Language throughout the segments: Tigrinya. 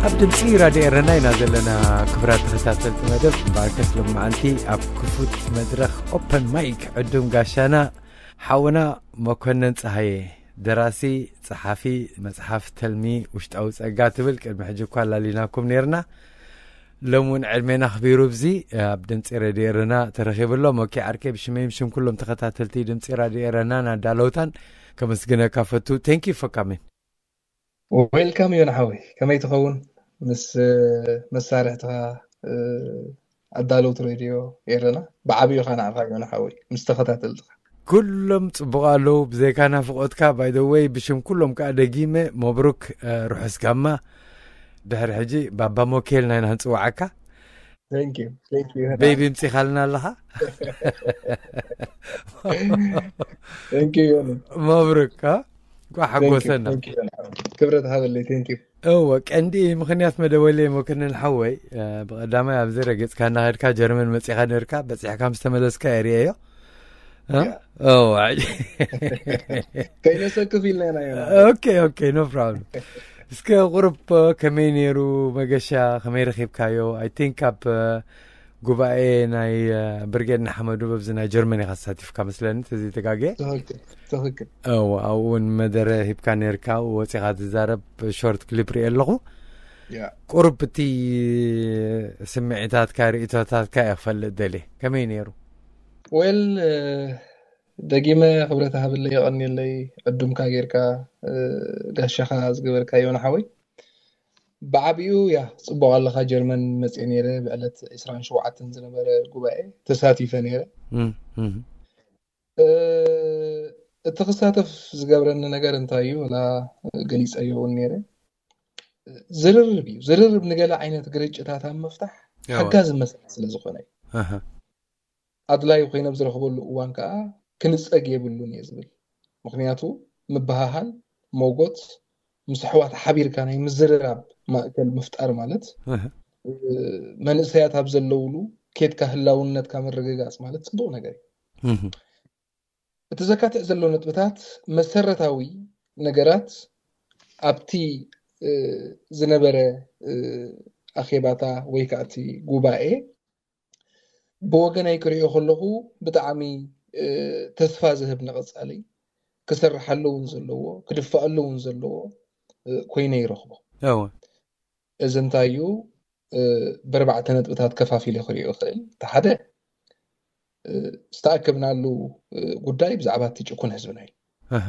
ኣብ ድምፂ ራድዮ ኤረና ኢና ዘለና። ክብራት ተኸታተልቲ መደብ፣ እምበኣርከስ ሎማዓንቲ ኣብ ክፉት መድረኽ ኦፐን ማይክ ዕዱም ጋሻና ሓውና መኮነን ፀሃየ፣ ደራሲ፣ ፀሓፊ መፅሓፍ ተልሚ ውሽጣዊ ፀጋ ትብል ቅድሚ ሕጂ እኳ ኣላሊናኩም ነይርና። ሎም እውን ዕድሜና ኣኽቢሩ ብዚ ኣብ ድምፂ ሬድዮ ኤረና ተረኺቡ ኣሎ። ሞኬ ዓርከይ፣ ብሽመይን ብሽም ኩሎም ተኸታተልቲ ድምፂ ራድዮ ኤረናን ኣዳለውታን ከመስግነካ ፈቱ። Thank you for coming። Welcome ዮና ሓወይ፣ ከመይ ትኸውን? ምስ መሳርሕትኻ ኣዳለውቲ ሬድዮ ኤረና ብዓብዩ ኻ ንዓኻ ዮና ሓወይ ምስ ተኸታተልትኻ። ኩሎም ጽቡቕ ኣለዉ፣ ብዘይካ ናፍቖትካ። By the way፣ ብሽም ኩሎም ከኣ ደጊመ መብሩክ፣ ርሑስ ጋማ። ድሕሪ ሕጂ ባባ ሞኬል ናይና ክንጽውዓካ። Thank you, thank you። ቤቢ ምጺኻልና ኣለኻ። Thank you ዮኒ። መብሩክ። እንኳዕ ሓጎሰና። Thank you ዮኒ። ክብረት ሃበለይ። Thank you። እወ፣ ቀንዲ ምኽንያት መደወለይ መኮነን ሓወይ፣ ብቐዳማይ ኣብዚ ረገጽካ እናኸድካ ጀርመን መጺኻ ነርካ፣ በጺሕካ ምስ ተመለስካ እየ ርእየዮ። እወ። ከይነሰክፍ ኢልና ኢና ዮኒ። Okay, okay, no problem። እስከ ቁሩብ ከመይ ነይሩ መገሻ፣ ከመይ ረኺብካዮ? I think ኣብ ጉባኤ ናይ ብርጌድ ንሓመዱ በብዚ ናይ ጀርመን ኢኻ ተሳቲፍካ መስለኒ፣ ተዘይተጋግየ። ትኽክል፣ ትኽክል። እወ፣ ኣብኡ እውን መደረ ሂብካ ነርካ፣ ወፂኻ ትዛረብ ሾርት ክሊፕ ሪኤ ኣለኹ። ቁሩብ እቲ ስምዒታትካ፣ ርእቶታትካ እየ ክፈልጥ ደልየ። ከመይ ነይሩ? ዌል፣ ደጊመ ክብረት ሃብለይ፣ የቐንየለይ፣ ዕዱምካ ጌርካ፣ ጋሻኻ ዝገበርካዮ ንሓወይ። ብዓቢኡ ያ፣ ጽቡቕ ኣለኻ፣ ጀርመን መጽየ ነይረ፣ ብዕለት ዕስራን ሸውዓተን ዝነበረ ጉባኤ ተሳቲፈ ነይረ። እም፣ እም። እ፣ እቲ ክሳተፍ ዝገብረኒ ነገር እንታይ እዩ? ወላ ገሊጸዮ እውን ነይረ። ዝርርብ እዩ። ዝርርብ ንገለ ዓይነት ግርጭታት ኣብ ምፍታሕ ያዋ። ሓጋዚ መሳርሒ ስለ ዝኾነ እዩ። ኣሃ። ኣድላዩ ኮይነ ኣብ ዝረኽበሉ እዋን ከኣ ክንጸግ የብሉን እየ ዝብል። ምኽንያቱ ምብሃሃል፣ ሞጎት፣ ምስ ኣሕዋት ሓቢርካ ናይ ምዝርራብ ማእከል ምፍጣር ማለት፣ እህ። እ፣ መንእሰያት ኣብ ዘለውሉ ኬድካ ህላውነትካ ምርግጋጽ ማለት ጽቡቕ ነገር እዩ። እህ። እቲ ዘካትዕ ዘሎ ነጥብታት መሰረታዊ ነገራት ኣብቲ፣ እ፣ ዝነበረ፣ እ፣ ኣኼባታ ወይ ከኣ እቲ ጉባኤ ብወገነይ ክሪኦ ከለኹ ብጣዕሚ፣ እ፣ ተስፋ ዝህብ ንቐጻሊ ክሰርሓሉ እውን ዘለዎ፣ ክድፋኣሉ እውን ዘለዎ፣ እ፣ ኮይነ ይረኽቦ። እወ። እዚ እንታይ እዩ? እ፣ ብኣርባዕተ ነጥብታት ከፋፊለ ክሪኦ ይኽእል። እቲ ሓደ፣ እ፣ ዝተኣከብናሉ፣ እ፣ ጉዳይ ብዛዕባ እቲ ጭኩን ህዝብና እዩ። ኣሃ።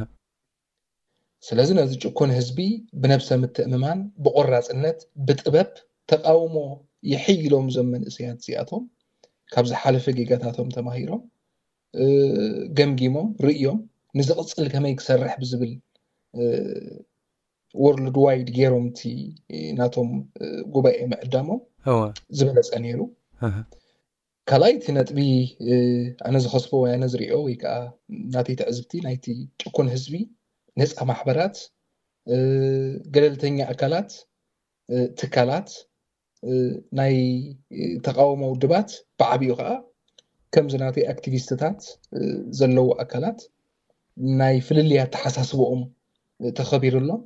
ስለዚ ነዚ ጭኩን ህዝቢ ብነብሰ ምትእምማን፣ ብቆራጽነት፣ ብጥበብ ተቃውሞ ይሕይሎም እዞም መንእሰያት እዚኣቶም ካብ ዝሓለፈ ጌጋታቶም ተማሂሮም፣ እ፣ ገምጊሞም፣ ርእዮም፣ ንዝቕጽል ከመይ ክሰርሕ ብዝብል፣ እ፣ ወርልድ ዋይድ ገይሮም እቲ ናቶም፣ እ፣ ጉባኤ ምዕዳሞም እወ። ዝበለጸ ነይሩ። ኣሃ። ካልኣይ እቲ ነጥቢ፣ እ፣ ኣነ ዝኸስቦ ወይ ኣነ ዝሪኦ ወይ ከኣ ናተይ ትዕዝብቲ ናይቲ ጭኩን ህዝቢ ነጻ ማሕበራት፣ እ፣ ገለልተኛ ኣካላት፣ እ፣ ትካላት፣ እ፣ ናይ፣ እ፣ ተቃውሞ ውድባት ብዓቢኡ ከኣ ከምዚ ናተይ ኣክቲቪስትታት፣ እ፣ ዘለዉ ኣካላት ናይ ፍልልይ ኣተሓሳስብኦም፣ እ፣ ተኸቢሩሎም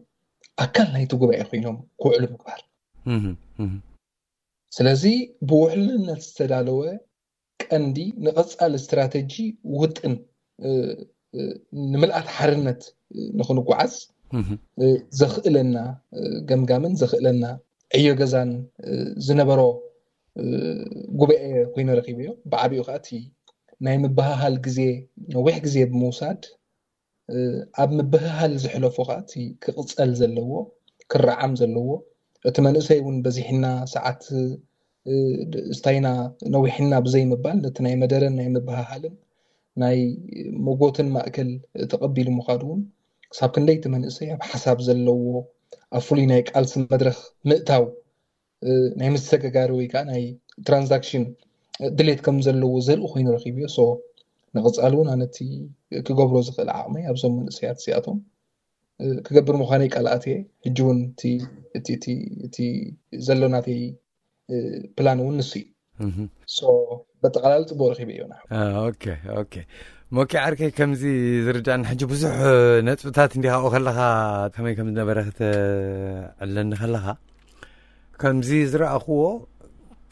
ኣካል ናይቲ ጉባኤ ኮይኖም ክውዕሉ ምግባር። እህ፣ እህ። ስለዚ ብውሕልነት ዝተዳለወ ቀንዲ ንቐጻሊ ስትራተጂ ውጥን፣ እ፣ እ፣ ንምልኣት ሓርነት፣ እ፣ ንኽንጓዓዝ፣ እህ። እ፣ ዘኽእለና፣ እ፣ ገምጋምን ዘኽእለና ዕዮ ገዛን፣ እ፣ ዝነበሮ፣ እ፣ ጉባኤ ኮይነ ረኺበዮ። ብዓቢኡ ከኣ እቲ ናይ ምብህሃል ግዜ ነዊሕ ግዜ ብምውሳድ፣ እ፣ ኣብ ምብህሃል ዝሕለፎ ከኣ እቲ ክቕጸል ዘለዎ፣ ክረዓም ዘለዎ፣ እቲ መንእሰይ እውን በዚሕና ሰዓት ስታይና ነዊሕና ብዘይምባል ነቲ ናይ መደረን ናይ ምብሃሃልን ናይ መጎትን ማእከል ተቐቢሉ ምዃዱ እውን ክሳብ ክንደይ እቲ መንእሰይ ኣብ ሓሳብ ዘለዎ ኣብ ፍሉይ ናይ ቃልሲ መድረኽ ምእታው ናይ ምስሰገጋሪ ወይ ከዓ ናይ ትራንዛክሽን ድሌት ከም ዘለዎ ዘርኢ ኮይኑ ረኪብዮ። ንቕፃል እውን ኣነቲ ክገብሮ ዝኽእል ዓቕመይ ኣብዞም መንእሰያት እዚኣቶም ክገብር ምዃነይ ቃል ኣትየ። ሕጂ እውን እቲ ዘሎናተይ ፕላን እውን ንሱ እዩ። በጠቃላሊ ፅቡቅ ረኪበ እዮና። ኦኬ ኦኬ። ሞኪ ዓርከይ ከምዚ ዝርዳእና ሕጂ ብዙሕ ነጥብታት እንዲኻኡ ከለኻ ከመይ ከም ዝነበረ ክተዕለኒ ከለኻ ከምዚ ዝረኣኽዎ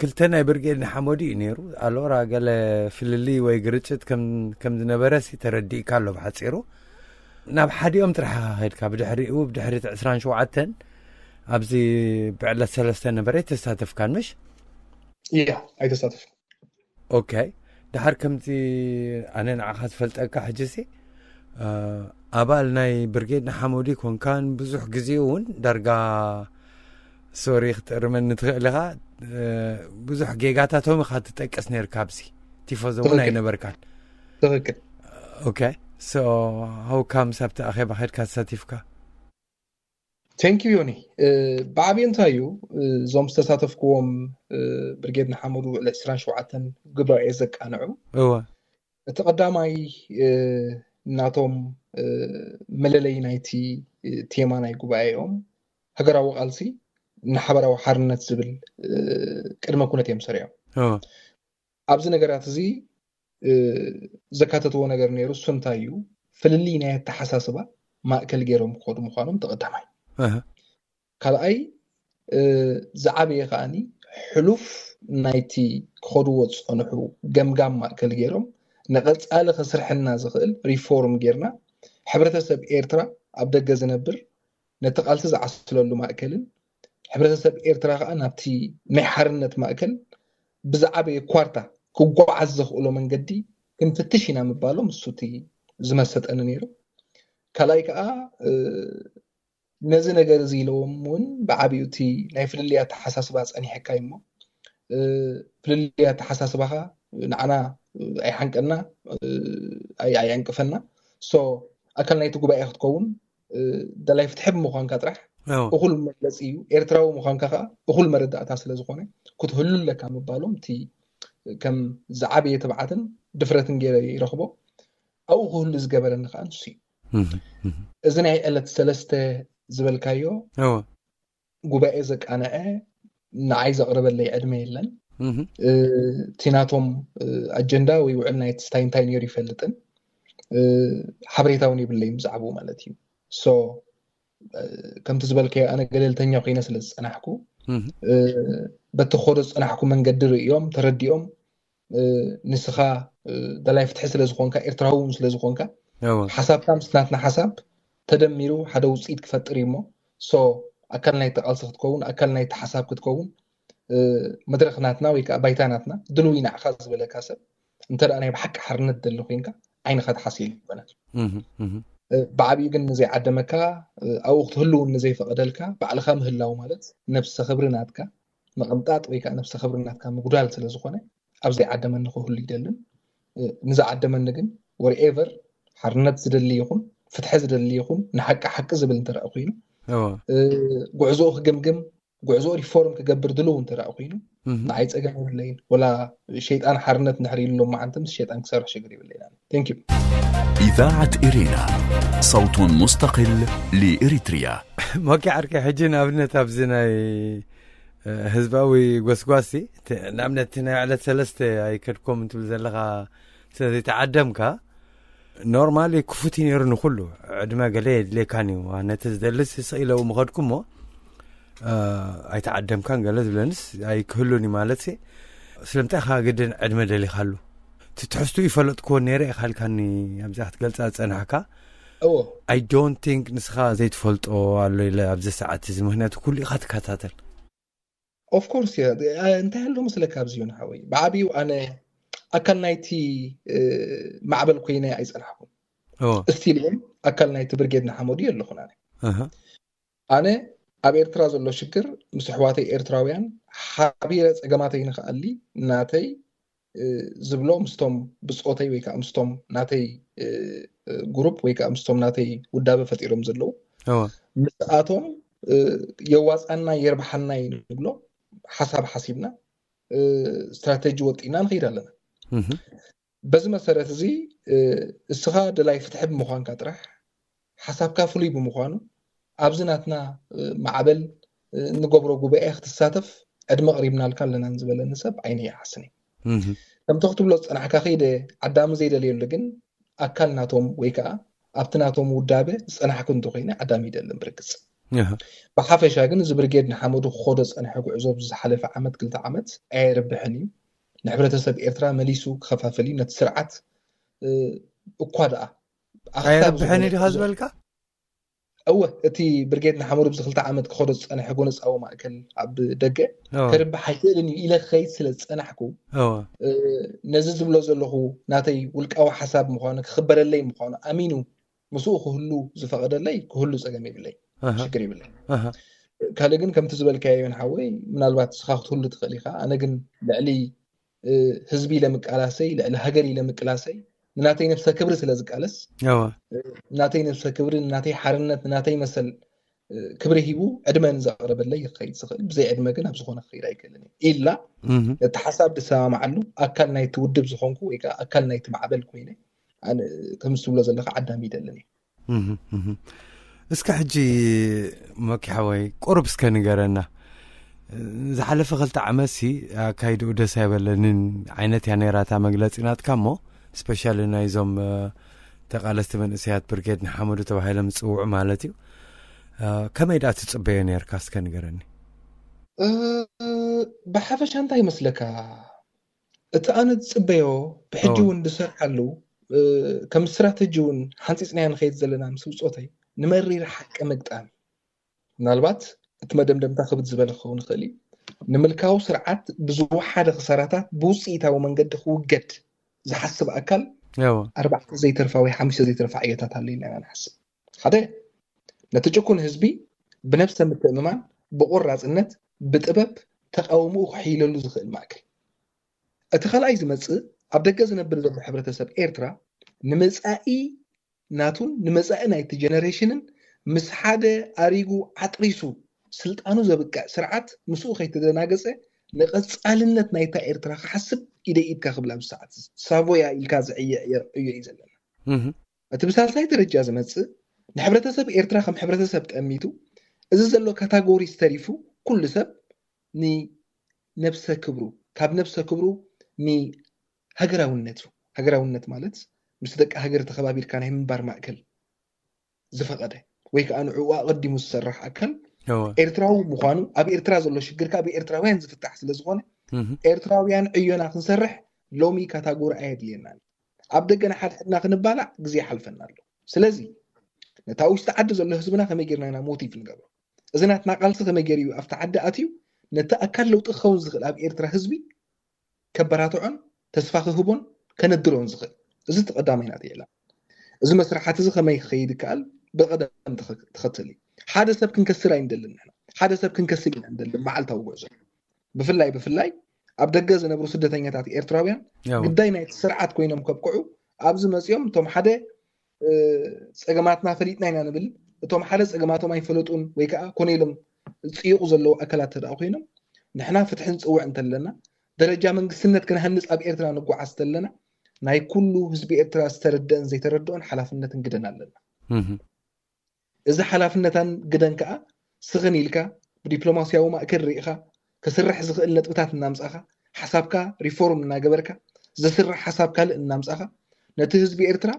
ክልተ ናይ ብርጌድ ንሓመዱ እዩ ነይሩ። ኣሎራ ገለ ፍልልይ ወይ ግርጭት ከም ዝነበረ ሲ ተረዲእካ ኣሎ ብሓፂሩ። ናብ ሓዲኦም ጥራሕ ኸድካ ብድሕሪኡ ብድሕሪ ዕስራን ሸውዓተን ኣብዚ ብዕለት ሰለስተ ነበረ ተሳተፍካን ምሽ? እያ ኣይተሳተፍ። ኦኬ። ድሓር ከምዚ ኣነ ንዓኻ ዝፈልጠካ ሕጂ ሲ ኣባል ናይ ብርጌድ ንሓመዱ ኮንካን ብዙሕ ግዜ እውን ዳርጋ ሶሪ ክትእርመኒ ትኽእል ኢኻ። ብዙሕ ጌጋታቶም ኢኻ ትጠቅስ ነርካ ኣብዚ ቲፎዞ እውን ኣይነበርካን። ትኽክል። ኦኬ። ሶ ሃው ካምስ ኣብቲ ኣኼባ ኸድካ ተሳቲፍካ? ቴንክ ዩ ዮኒ። ብዓብዩ እንታይ እዩ እዞም ዝተሳተፍክዎም ብርጌድ ንሓመዱ ዕለት ዕስራን ሸውዓተን ጉባኤ ዘቃንዑ እወ እቲ ቀዳማይ ናቶም መለለይ ናይቲ ቴማ ናይ ጉባኤኦም ሃገራዊ ቃልሲ ንሓበራዊ ሓርነት ዝብል ቅድመ ኩነት እዮም ሰሪዖም። ኣብዚ ነገራት እዚ ዘካተትዎ ነገር ነይሩ። እሱ እንታይ እዩ? ፍልልይ ናይ ኣተሓሳስባ ማእከል ገይሮም ክኸዱ ምዃኖም ተቐዳማይ። ካልኣይ ዝዓበየ ከዓኒ ሕሉፍ ናይቲ ክኸድዎ ዝፀንሑ ገምጋም ማእከል ገይሮም ንቐፃሊ ከስርሐና ዝኽእል ሪፎርም ጌርና ሕብረተሰብ ኤርትራ ኣብ ደገ ዝነብር ነቲ ቃልሲ ዝዓስለሉ ማእከልን ሕብረተሰብ ኤርትራ ከዓ ናብቲ ናይ ሓርነት ማእከል ብዝዓበየ ኳርታ ክጓዓዝ ዘኽእሎ መንገዲ ክንፍትሽ ኢና ምባሎም እሱ እቲ ዝመሰጠኒ ነይሩ። ካልኣይ ከዓ ነዚ ነገር እዚ ኢለዎም እውን ብዓብዩ እቲ ናይ ፍልልይ ኣተሓሳስባ ፀኒሐካ እሞ ፍልልይ ኣተሓሳስባኻ ንዓና ኣይሓንቀና ኣየንቅፈና። ሶ ኣካል ናይቲ ጉባኤ ክትከውን ደላይ ፍትሒ ብምዃንካ ጥራሕ እኹል መግለፂ እዩ። ኤርትራዊ ምዃንካ ከዓ እኹል መረዳእታ ስለ ዝኾነ ክትህሉ ኣለካ ምባሎም እቲ ከም ዝዓበየ ትብዓትን ድፍረትን ገይረ ይረኽቦ። ኣብኡ ክህሉ ዝገበረኒ ከዓ ንሱ እዩ። እዚ ናይ ዕለት ሰለስተ ዝበልካዮ ጉባኤ ዘቃንዐ ንዓይ ዘቕረበለይ ዕድመ የለን። እቲ ናቶም ኣጀንዳ ወይ ውዕል ናይ ስታይ እንታይ ነይሩ ይፈልጥን ሓበሬታ እውን የብለይን ብዛዕባኡ ማለት እዩ። ሶ ከምቲ ዝበልካዮ ኣነ ገለልተኛ ኮይነ ስለ ዝፀናሕኩ በቲ ክኸዶ ዝፀናሕኩ መንገዲ ርእዮም ተረዲኦም ንስኻ ደላይ ፍትሒ ስለ ዝኾንካ ኤርትራዊ እውን ስለ ዝኾንካ ሓሳብካ ምስ ናትና ሓሳብ ተደሚሩ ሓደ ውፅኢት ክፈጥር እዩ እሞ ሶ ኣካል ናይቲ ቃልሲ ክትከውን ኣካል ናይቲ ሓሳብ ክትከውን መድረኽ ናትና ወይ ከዓ ባይታ ናትና ድልው ኢና ኢኻ ዝበለካ ሰብ እንተ ናይ ብሓቂ ሓርነት ደሊ ኮይንካ ዓይንኻ ትሓስየሉ ይኮነን። ብዓብዩ ግን ንዘይዓደመካ ኣብኡ ክትህልውን ንዘይፈቐደልካ ባዕልኻ ምህላው ማለት ነብሰ ክብሪ ናትካ ምቕንጣጥ ወይ ከዓ ነብሰ ክብሪ ናትካ ምጉዳል ስለ ዝኾነ ኣብ ዘይዓደመኒ ክህሉ ይደልን። ንዝዓደመኒ ግን ወርኤቨር ሓርነት ዝደሊ ይኹን ፍትሒ ዝደሊ ይኹን ንሓቂ ሓቂ ዝብል እንተረኣ ኮይኑ ጉዕዞኡ ክግምግም ጉዕዞ ሪፎርም ክገብር ድልው እንተ ደኣ ኮይኑ ንዓይ ጸገም የብለይን። ወላ ሸይጣን ሓርነት እንድሕር ኢሉ ሎማዓንቲ ምስ ሸይጣን ክሰርሕ ሽግር የብለይን። Thank you. إذاعة إرينا، صوت مستقل لإريتريا. ሞኪ ዓርከይ ሕጂ ንኣብነት ኣብዚ ናይ ህዝባዊ ጎስጓሲ ንኣብነት ናይ ዕለት ሰለስተ ኣይከድኩም እንትብል ዘለኻ ስለዘይተዓደምካ ኖርማሊ ክፉት እዩ ነይሩ ንኩሉ ዕድመ ገለ የድልየካን እዩ ነቲ ዝደልስ ስቕ ኢለው ምኸድኩ እሞ ኣይተዓደምካን ገለ ዝብለንስ ኣይክህሉን እዩ ማለት ስለምንታይ ኢኻ ግድን ዕድመ ደሊኻሉ እቲ ትሕዝቱ ይፈለጥክዎ ነይረ ኢኻልካኒ ኣብዚኣ ክትገልፃ ዝፀናሕካ እዎ I don't think ንስኻ ዘይትፈልጦ ኣሎ ኢለ ኣብዚ ሰዓት እዚ ምክንያቱ ኩሉ ኢኻ ትከታተል ኦፍኮርስ እያ እንታይ ኣሎ መስለካ ኣብዚ ዮን ሓወይ ብዓብዩ ኣነ ኣካል ናይቲ ማዕበል ኮይነ ኣይፀናሕኩን እስቲል እውን ኣካል ናይቲ ብርጌድ ንሓመዱ የለኹን ኣነ ኣነ ኣብ ኤርትራ ዘሎ ሽግር ምስ ኣሕዋተይ ኤርትራውያን ሓቢረ ጸገማተይ ንክኣሊ ናተይ ዝብሎ ምስቶም ብጾተይ ወይ ከዓ ምስቶም ናተይ ግሩፕ ወይ ከዓ ምስቶም ናተይ ውዳበ ፈጢሮም ዘለዉ ምስኣቶም የዋፃና የርብሓና እዩ ንብሎ ሓሳብ ሓሲብና ስትራተጂ ወጢና ንኸይድ ኣለና። በዚ መሰረት እዚ እስኻ ደላይ ፍትሒ ብምዃንካ ጥራሕ ሓሳብካ ፍሉይ ብምዃኑ ኣብዚ ናትና ማዕበል እንገብሮ ጉባኤ ክትሳተፍ ዕድመ ቀሪብናልካ ኣለና ዝበለኒ ሰብ ዓይነ ይሓስኒ። ከምቲ ክትብሎ ዝፀናሕካ ከይደ ዓዳሚ ዘይደልየሉ ግን ኣካል ናቶም ወይ ከዓ ኣብቲ ናቶም ውዳበ ዝፀናሕኩ እንተኮይነ ዓዳሚ ይደልን ብርግፅ። ብሓፈሻ ግን እዚ ብርጌድ ንሓመዱ ክኸዶ ዝፀንሐ ጉዕዞ ብዝሓለፈ ዓመት ክልተ ዓመት ኣየርብሕን እዩ። ንሕብረተሰብ ኤርትራ መሊሱ ክኸፋፍል እዩ። ነቲ ስርዓት እኳ ደኣ ኣየርብሕን እዩ ዲኻ ዝበልካ? እወ፣ እቲ ብርጌድ ንሓመዱ ብዚ ክልተ ዓመት ክኸዶ ዝፀንሐ ጎነፃዊ ማእከል ኣብ ደገ ከርብሕ ኣይክእልን እዩ ኢለ ክኸይድ ስለ ዝፀናሕኩ ነዚ ዝብሎ ዘለኹ ናተይ ውልቃዊ ሓሳብ ምዃኑ ክኽበረለይ ምዃኑ ኣሚኑ ምስኡ ክህሉ ዝፈቐደለይ ክህሉ ፀገም የብለይ፣ ሽግር የብለይ። ካልእ ግን ከምቲ ዝበልካዮ ዮን ሓወይ ምናልባት ንስኻ ክትህሉ ትኽእል ኢኻ። ኣነ ግን ልዕሊ ህዝቢ ኢለ ምቃላሰይ ልዕሊ ሃገር ኢለ ምቅላሰይ ንናተይ ነብሰ ክብሪ ስለ ዝቃለስ ናተይ ነብሰ ክብሪ ንናተይ ሓርነት ንናተይ መሰል ክብሪ ሂቡ ዕድመ ንዘቕረበለይ ክኸይድ ዝኽእል ብዘይ ዕድመ ግን ኣብ ዝኾነ ክኸይድ ኣይክእልን ኢላ እቲ ሓሳብ ዝሰማማዓሉ ኣካል ናይቲ ውድብ ዝኾንኩ ወይ ከዓ ኣካል ናይቲ ማዕበል ኮይነ ከምዚ ትብሎ ዘለካ ዓዳሚ ይደልን እዩ። እስከ ሕጂ መኪ ሓወይ ቁሩብ እስከ ንገረና። ዝሓለፈ ክልተ ዓመት ሲ ኣካይድኡ ደስ ኣይበለንን ዓይነት እያ ነይራ እታ መግለፂ ናትካ እሞ ስፔሻሊ ናይዞም ተቃለስቲ መንእሰያት ብርጌድ ንሓመዱ ተባሂሎም ዝፅውዑ ማለት እዩ። ከመይ ደኣ ትፅበዮ ነርካ እስከ ንገረኒ። ብሓፈሻ እንታይ ይመስለካ እቲ ኣነ ዝፅበዮ ብሕጂ እውን ዝሰርሓሉ ከም ስትራተጂ እውን ሓንፂፅናዮ ንኸይድ ዘለና ምስ ብፆተይ ንመሪር ሓቂ ምግጣም ምናልባት እቲ መደምደምታ ክብድ ዝበለ ክኸውን ይኽእል እዩ ንምልካዊ ስርዓት ብዝወሓደ ክሳራታት ብውፅኢታዊ መንገዲ ክውገድ ዝሓስብ ኣካል ኣርባዕተ ዘይተርፋ ወይ ሓሙሽተ ዘይተርፋ ዕዮታት ኣሎ ኢልና ኢና ንሓስብ ሓደ ነቲ ጭኩን ህዝቢ ብነብሰ ምትእምማን ብቆራፅነት ብጥበብ ተቃውምኡ ክሕይለሉ ዝኽእል ማእከል እቲ ካልኣይ ዝመፅእ ኣብ ደገ ዝነብር ዘሎ ሕብረተሰብ ኤርትራ ንመፃኢ ናቱን ንመፃኢ ናይቲ ጀነሬሽንን ምስ ሓደ ኣሪጉ ዓጥሪሱ ስልጣኑ ዘብቅዕ ስርዓት ምስኡ ከይተደናገፀ ንቐፃልነት ናይታ ኤርትራ ክሓስብ ኢደ ኢድካ ክብል ኣብዚ ሰዓት ሳቮያ ኢልካ ዝዕየ ዕዮ እዩ ዘለና። እቲ ብሳልሳይ ደረጃ ዝመፅእ ንሕብረተሰብ ኤርትራ ከም ሕብረተሰብ ጠሚቱ እዚ ዘሎ ካታጎሪስ ተሪፉ ኩሉ ሰብ ንነብሰ ክብሩ ካብ ነብሰ ክብሩ ንሃገራውነቱ ሃገራውነት ማለት ምስ ደቂ ሃገር ተኸባቢርካ ናይ ምንባር ማእከል ዝፈቐደ ወይ ከዓ ንዕኡ ኣቐዲሙ ዝሰርሕ ኣካል ኤርትራዊ ምዃኑ ኣብ ኤርትራ ዘሎ ሽግር ከዓ ብኤርትራውያን ዝፍታሕ ስለ ዝኾነ ኤርትራውያን ዕዮና ክንሰርሕ ሎሚ ካታጎሪ ኣየድልየናን ኣብ ደገ ንሓድሕድና ክንባላዕ ግዜ ይሓልፈና ኣሎ። ስለዚ ነታ ውሽጢ ዓዲ ዘሎ ህዝብና ከመይ ጌርና ኢና ሞቲቭ ንገብሮ? እዚ ናትና ቃልሲ ከመይ ገይሩ እዩ ኣብቲ ዓዲ ኣትዩ ነቲ ኣካል ለውጢ ክኸውን ዝኽእል ኣብ ኤርትራ ህዝቢ ከበራትዖን ተስፋ ክህቦን ከነድሮን ዝኽእል? እዚ እቲ ቀዳማይ ናተይ ዕላማ። እዚ መስርሓት እዚ ከመይ ክኸይድ ይከኣል? ብቐደም ተኸተል እዩ። ሓደ ሰብ ክንከስር ኣይንደልን ንሕና። ሓደ ሰብ ክንከስር ኢና ንደልን መዓልታዊ ጉዕዞ። ብፍላይ ብፍላይ ኣብ ደገ ዝነብሩ ስደተኛታት ኤርትራውያን ግዳይ ናይቲ ስርዓት ኮይኖም ከብቅዑ ኣብዚ መፂኦም እቶም ሓደ ፀገማትና ፈሊጥና ኢና ንብል እቶም ሓደ ፀገማቶም ኣይፈለጡን ወይ ከዓ ኮነ ኢሎም ዝፅይቑ ዘለዉ ኣካላት ተደኣ ኮይኖም ንሕና ፍትሒ ንፅውዕ እንተለና ደረጃ መንግስትነት ክንሃንፅ ኣብ ኤርትራ ንጓዓዝ ተለና ናይ ኩሉ ህዝቢ ኤርትራ ዝተረደአን ዘይተረድኦን ሓላፍነትን ግደን ኣለና። እዚ ሓላፍነታን ግደን ከዓ ስኽን ኢልካ ብዲፕሎማስያዊ ማእከል ርኢኻ ክስራሕ ዝኽእል ነጥብታት እናምፃእኻ ሓሳብካ ሪፎርም እናገበርካ ዘስራሕ ሓሳብ ካልእ እናምፃእኻ ነቲ ህዝቢ ኤርትራ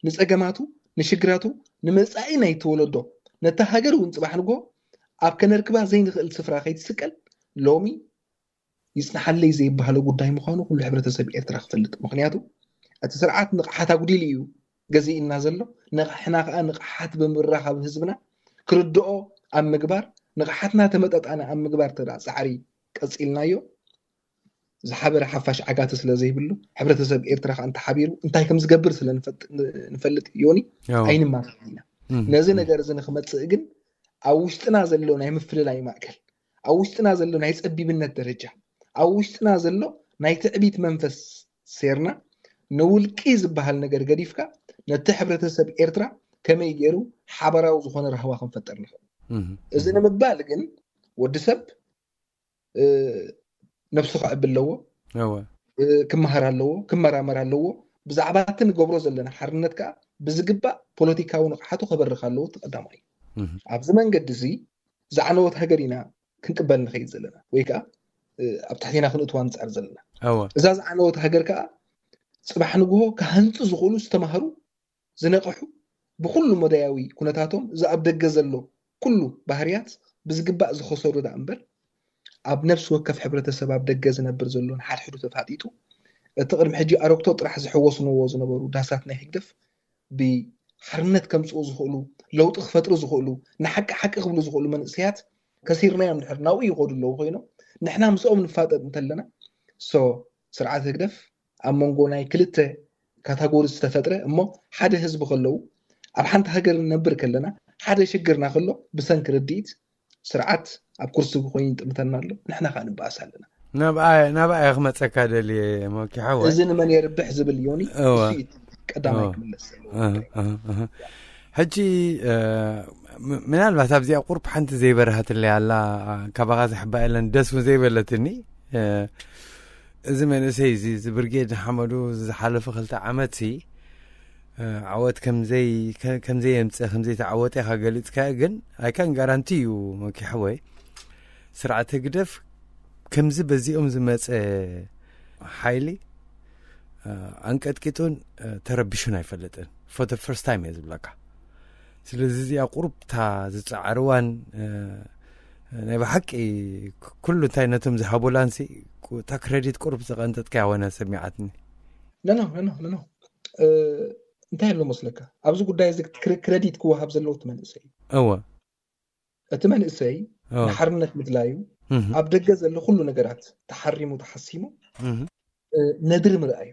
ንፀገማቱ ንሽግራቱ ንመፃኢ ናይ ተወለዶ ነታ ሃገር እውን ፅባሕ ንጎ ኣብ ከነርክባ ዘይንኽእል ስፍራ ከይትስቀል ሎሚ ይፅንሓለይ ዘይበሃሎ ጉዳይ ምዃኑ ኩሉ ሕብረተሰብ ኤርትራ ክፈልጥ። ምኽንያቱ እቲ ስርዓት ንቕሓት ኣጉዲሉ እዩ ገዚእና ዘሎ። ንቕሕና ከዓ ንቕሓት ብምርኻብ ህዝብና ክርድኦ ኣብ ምግባር ንቕሓትና ተመጣጣኒ ኣብ ምግባር ተዳ ፃዕሪ ቀፂልናዮ ዝሓበረ ሓፋሽ ዓጋቲ ስለ ዘይብሉ ሕብረተሰብ ኤርትራ ከዓ እንተሓቢሩ እንታይ ከም ዝገብር ስለ ንፈልጥ ዮኒ ኣይንማታን ኢና። ነዚ ነገር እዚ ንክመፅእ ግን ኣብ ውሽጥና ዘሎ ናይ ምፍልላይ ማእከል፣ ኣብ ውሽጥና ዘሎ ናይ ጸቢብነት ደረጃ፣ ኣብ ውሽጥና ዘሎ ናይ ትዕቢት መንፈስ ሴርና፣ ንውልቂ ዝበሃል ነገር ገዲፍካ፣ ነቲ ሕብረተሰብ ኤርትራ ከመይ ገይሩ ሓባራዊ ዝኾነ ራህዋ ክንፈጥር ንኽእል? እዚ ንምባል ግን ወዲ ሰብ ነብሱ ከዕቢ ኣለዎ፣ ክመሃር ኣለዎ፣ ክመራመር ኣለዎ። ብዛዕባ እቲ ንገብሮ ዘለና ሓርነት ከዓ ብዝግባእ ፖለቲካዊ ንቕሓቱ ከበርኽ ኣለዎ። እቲ ቀዳማይ። ኣብዚ መንገዲ እዚ ዝዓነወት ሃገር ኢና ክንቅበል ንኸይድ ዘለና፣ ወይ ከዓ ኣብ ትሕቴና ክንእትዋ ንፃር ዘለና። እዛ ዝዓነወት ሃገር ከዓ ፅባሕ ንግሆ ክሃንፁ ዝኽእሉ ዝተማህሩ፣ ዝነቕሑ፣ ብኩሉ መዳያዊ ኩነታቶም እዚ ኣብ ደገ ዘሎ ኩሉ ባህርያት ብዝግባእ ዝኸሰሩ ደኣ እምበር፣ ኣብ ነፍሲ ወከፍ ሕብረተሰብ ኣብ ደገ ዝነብር ዘሎ ንሓድሕዱ ተፋጢጡ፣ እቲ ቅድሚ ሕጂ ኣረግቶ ጥራሕ ዝሕወስንዎ ዝነበሩ ዳሳት ናይ ህግደፍ ብሓርነት ከምፅኡ ዝኽእሉ፣ ለውጢ ክፈጥሩ ዝኽእሉ፣ ንሓቂ ሓቂ ክብሉ ዝኽእሉ መንእሰያት ከሲርናዮም ድሕር ናብኡ ይኸዱ ኣለዉ ኮይኖም፣ ንሕና ምስኦም ንፋጠጥ እንተለና፣ ሶ ስርዓት ህግደፍ ኣብ መንጎ ናይ ክልተ ካታጎሪ ዝተፈጥረ እሞ ሓደ ህዝቢ ከለዉ፣ ኣብ ሓንቲ ሃገር ንነብር ከለና ሓደ ሽግርና ከሎ ብሰንኪ ርድኢት ስርዓት ኣብ ኩርሲ ኮይኑ ይጥምተና ኣሎ፣ ንሕና ከዓ ንበኣስ ኣለና። ናብኣ ናብኣ እየ ክመፀካ ደልየ ሞኪ ሓወ። እዚ ንመን የርብሕ ዝብል ዮኒ እወ። እሱ እዩ ቀዳማይ እወ። ክምለስ ዘለዎ እህ፣ ጉዳይ። እህ፣ እህ። ሕጂ እ፣ ም- ምናልባት ኣብዚኣ ቁርብ ሓንቲ ዘይበረሃትለይ ኣላ፣ ካባኻ ዝሕባ የለን፣ ደስ እውን ዘይበለትኒ። እ፣ እዚ መንእሰይ እዚ እዚ ብርጌድ ንሓመዱ ዝሓለፈ ክልተ ዓመት ሲ ዓወት ከምዘይ ከ- ከምዘይ የምፅእ ከምዘይ ተዓወጠ ኢኻ ገሊፅካ፣ ግን ኣይካን ጋራንቲ እዩ መኪ ሓወይ። ስርዓት ህግደፍ ከምዚ በዚኦም ዝመፀ ሓይሊ እ፣ ኣንቀጥቂጡን እ፣ ተረቢሹን ኣይፈልጥን። For the first time እየ ዝብለካ። ስለዚ እዚኣ ቁሩብታ ዝፀዓርዋን እ፣ ናይ ብሓቂ ክ- ኩሉ እንታይ ነቶም ዝሃቡላንሲ ቁ- እታ ክረዲት ቁሩብ ዘቐንጠጥካ ያወነ ሰሚዓትኒ። ነኖ ነኖ ነኖ እ፣ እንታይ ኣሎ መስለካ፣ ኣብዚ ጉዳይ እዚ ክረ- ክረዲት ክወሃብ ዘለዎ እቲ መንእሰይ እዩ። እወ። እቲ መንእሰይ እወ። ንሓርነት ምድላዩ እህ፣ ኣብ ደገ ዘሎ ኩሉ ነገራት ተሓሪሙ ተሓሲሙ እህ፣ እ፣ ነድሪ ምርኣዩ።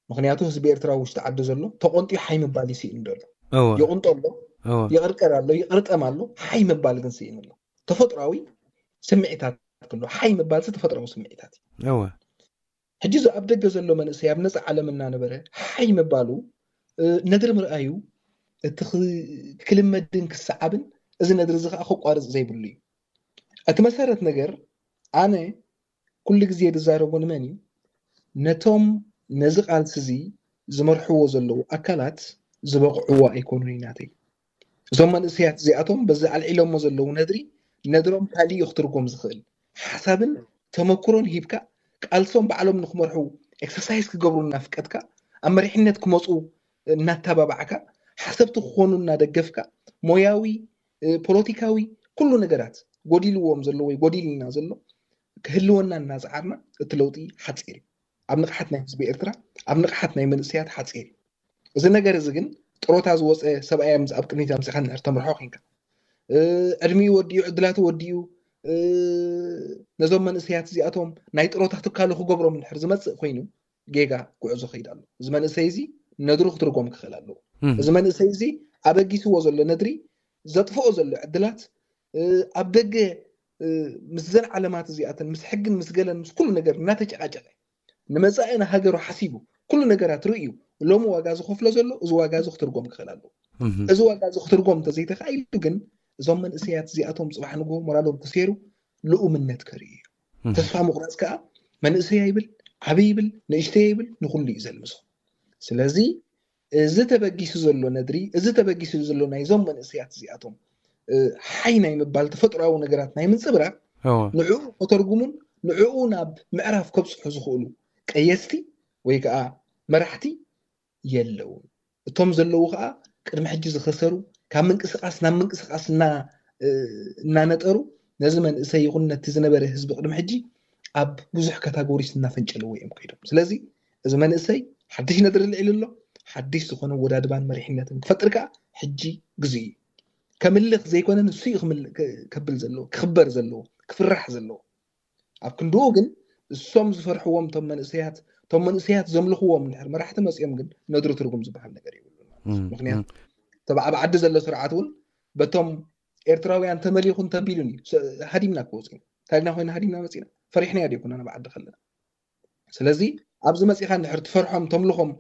ምክንያቱ ህዝቢ ኤርትራ ውሽጢ ዓዲ ዘሎ ተቆንጢ ሓይ ምባል ይስእን ዘሎ። እወ። ይቁንጦ ኣሎ፣ እወ። ይቅርቀር ኣሎ፣ ይቅርጠም ኣሎ፣ ሓይ ምባል ግን ስእን ኣሎ። ተፈጥሯዊ ስምዒታት ክሎ ሓይ ምባል ሲ ተፈጥሯዊ ስምዒታት እዩ። እወ። ሕጂ እዚ ኣብ ደገ ዘሎ መንእሰይ ኣብ ነፃ ዓለም እናነበረ ሓይ ምባሉ እ፣ ነድሪ ምርኣዩ እቲ ክ- ክልመድን ክሰዓብን፣ እዚ ነድሪ እዚ ከዓ ከቋርፅ ዘይብሉ እዩ። እቲ መሰረት ነገር ኣነ ኩሉ ግዜ ዝዛረቦ ንመን እዩ? ነቶም ነዚ ቃልሲ እዚ ዝመርሕዎ ዘለዉ ኣካላት ዝበቕዕዎ ኣይኮኑን እዩ ናተይ። እዞም መንእሰያት እዚኣቶም በዚ ኣልዒሎሞ ዘለዉ ነድሪ፣ ነድሮም ካልእ እዩ ክትርጎም ዝኽእል። ሓሳብን ተመክሮን ሂብካ፣ ቃልሶም ባዕሎም ንክመርሑ ኤክሰርሳይዝ ክገብሩ እናፍቀድካ፣ ኣብ መሪሕነት ክመፁ እናተባባዕካ፣ ሓሰብቲ ክኾኑ እናደገፍካ፣ ሞያዊ፣ እ፣ ፖለቲካዊ፣ ኩሉ ነገራት ጎዲልዎም ዘሎ ወይ ጎዲልና ዘሎ ክህልወና እናፀዓርና፣ እቲ ለውጢ ሓፂር እዩ። ኣብ ንቕሓት ናይ ህዝቢ ኤርትራ፣ ኣብ ንቕሓት ናይ መንእሰያት ሓፂር እዩ። እዚ ነገር እዚ ግን ጥሮታ ዝወፀ ሰብኣይ ኣምፅ-፣ ኣብ ቅድሚት ኣምፂኻ ንድሕር ተምርሖ ኮንካ፣ እ፣ ዕድሚኡ ወዲኡ፣ ዕድላቱ ወዲኡ፣ እ፣ ነዞም መንእሰያት እዚኣቶም ናይ ጥሮታ ትካሉ ክገብሮም እንድሕር ዝመፅእ ኮይኑ፣ ጌጋ ጉዕዞ ከይድ ኣሎ። እዚ መንእሰይ እዚ ነድሩ ክትርጎም ክኽእል ኣለዎ። እህ። እዚ መንእሰይ እዚ ኣበጊስዎ ዘሎ ነድሪ፣ ዘጥፍኦ ዘሎ ዕድላት፣ እ፣ ኣብ ደገ፣ እ፣ ምስዘን ዓለማት እዚኣተን፣ ምስ ሕግን ምስ ገለን ምስ ኩሉ ነገር እናተጨቃጨቀ፣ ንመጻኢ ንሃገሩ ሓሲቡ ኩሉ ነገራት ርእዩ ሎሚ ዋጋ ዝኸፍሎ ዘሎ፣ እዚ ዋጋ እዚ ክትርጎም ክኽእል ኣለዎ። እህ። እዚ ዋጋ እዚ ክትርጎም እንተዘይተኻኢሉ ግን፣ እዞም መንእሰያት እዚኣቶም ጽባሕ ንግሆ ሞራሎም ተሰይሩ ልኡምነት ከርእዩ እዮም። እህ። ተስፋ ምቑራጽ ከኣ መንእሰይ ኣይብል፣ ዓቢ ይብል፣ ንእሽተይ ይብል፣ ንኹሉ እዩ ዘልምሶ። ስለዚ እዚ ተበጊሱ ዘሎ ነድሪ፣ እዚ ተበጊሱ ዘሎ ናይዞም መንእሰያት እዚኣቶም፣ እ፣ ሓይ ናይ ምባል ተፈጥሮኣዊ ነገራት ናይ ምንጽብራቕ፣ እወ። ንዕኡ ከተርጉሙን ንዕኡ ናብ ምዕራፍ ከብጽሑ ዝኽእሉ ቀየስቲ ወይ ከኣ መራሕቲ የለውን። እቶም ዘለዉ ከኣ ቅድሚ ሕጂ ዝኸሰሩ፣ ካብ ምንቅስቃስ ናብ ምንቅስቃስ እና-፣ እ፣ እናነጠሩ፣ ነዚ መንእሰይ ይኹን ነቲ ዝነበረ ህዝቢ ቅድሚ ሕጂ ኣብ ብዙሕ ካታጎሪስ እናፈንጨልዎ እዮም ከይዶም። ስለዚ እዚ መንእሰይ ሓድሽ ነድሪ ኣልዒሉ ኣሎ። ሓድሽ ዝኾነ ወዳድባን መሪሕነትን ክፈጥር ከኣ ሕጂ ግዜኡ እዩ። ከምልኽ ዘይኮነ ንሱ እዩ ክምል-፣ ክ-፣ ከብል ዘለዎ፣ ክኽበር ዘለዎ፣ ክፍራሕ ዘለዎ። ኣብ ክንድኡ ግን እሶም ዝፈርሕዎም እቶም መንእሰያት፣ እቶም መንእሰያት ዘምልኽዎም እንድሕር መራሕቲ መጺኦም ግን ነድሪ ትርጉም ዝበሃል ነገር የብሉን ማለት እዩ። እም፣ ምክንያቱ እም። ተብ-፣ ኣብ ዓዲ ዘሎ ስርዓት እውን በቶም ኤርትራውያን ተመሊኹ እንተቢሉን እዩ ሃዲምና ክወፅና ታሪክና ኮይና ሃዲምና መፂና ፈሪሕና ያ ዲኩና ንባዓዲ ከለና ስለዚ ኣብዚ መፂኻ እንድሕር ትፈርሖም ተምልኾም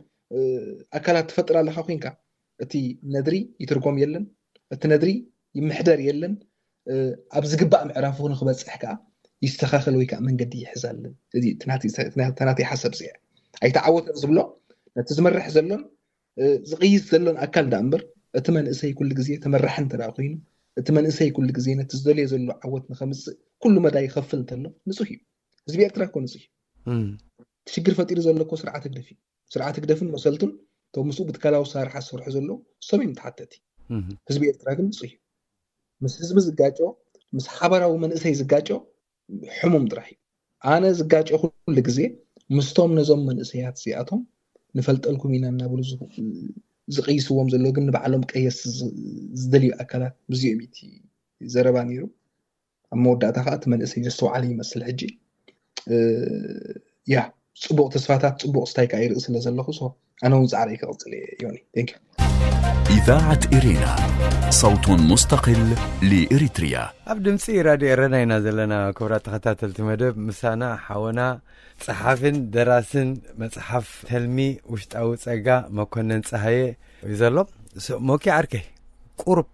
ኣካላት ትፈጥር ኣለካ ኮይንካ እቲ ነድሪ ይትርጎም የለን እቲ ነድሪ ይምሕደር የለን ኣብ ዝግባእ ምዕራፉ ንክበፅሕ ከዓ ይስተኻኸል ወይ ከዓ መንገዲ ይሕዛለን እዚ ተናተይ ሓሳብ ዚ ኣይተዓወተን ዝብሎ ነቲ ዝመርሕ ዘሎን ዝቕይስ ዘሎን ኣካል ዳ እምበር እቲ መንእሰይ ኩሉ ግዜ ተመራሒ እንተ ኮይኑ እቲ መንእሰይ ኩሉ ግዜ ነቲ ዝደልዮ ዘሎ ዓወት ንኸምፅእ ኩሉ መዳይ ይኸፍል እንተሎ ንፁህ እዩ ህዝቢ ኤርትራ እኮ ንፁህ እዩ ሽግር ፈጢሩ ዘሎ እኮ ስርዓት ህግደፍ እዩ ስርዓት ህግደፍን መሰልቱን እቶም ምስኡ ብትካላዊ ኣሰራርሓ ዝሰርሑ ዘለዉ እሶም እዮም ተሓተቲ ህዝቢ ኤርትራ ግን ንፁህ እዩ ምስ ህዝቢ ዝጋጮ ምስ ሓበራዊ መንእሰይ ዝጋጮ ሕሙም ጥራሕ እዩ ኣነ ዝጋጨ ኩሉ ግዜ ምስቶም ነዞም መንእሰያት እዚኣቶም ንፈልጠልኩም ኢና እናብሉ ዝቕይስዎም ዘሎ ግን ንባዕሎም ቀየስ ዝደልዩ ኣካላት ምስዚኦም እቲ ዘረባ ነይሩ ኣብ መወዳእታ ከዓ እቲ መንእሰይ ዘስተውዓለ ይመስል ሕጂ ያ ፅቡቅ ተስፋታት ፅቡቅ ስታይ ከዓ ይርኢ ስለ ዘለኹ ኣነ እውን ፃዕረይ ክቕፅል እየ ዮኒ إذاعة إرينا صوت مستقل لإريتريا ኣብ ድምፂ ራድዮ ኤረና ኢና ዘለና ክቡራት ተኸታተልቲ መደብ ምሳና ሓወና ፀሓፍን ደራስን መፅሓፍ ተልሚ ውሽጣዊ ፀጋ መኮነን ፀሃየ እዩ ዘሎ ሞኪ ዓርከይ ቁሩብ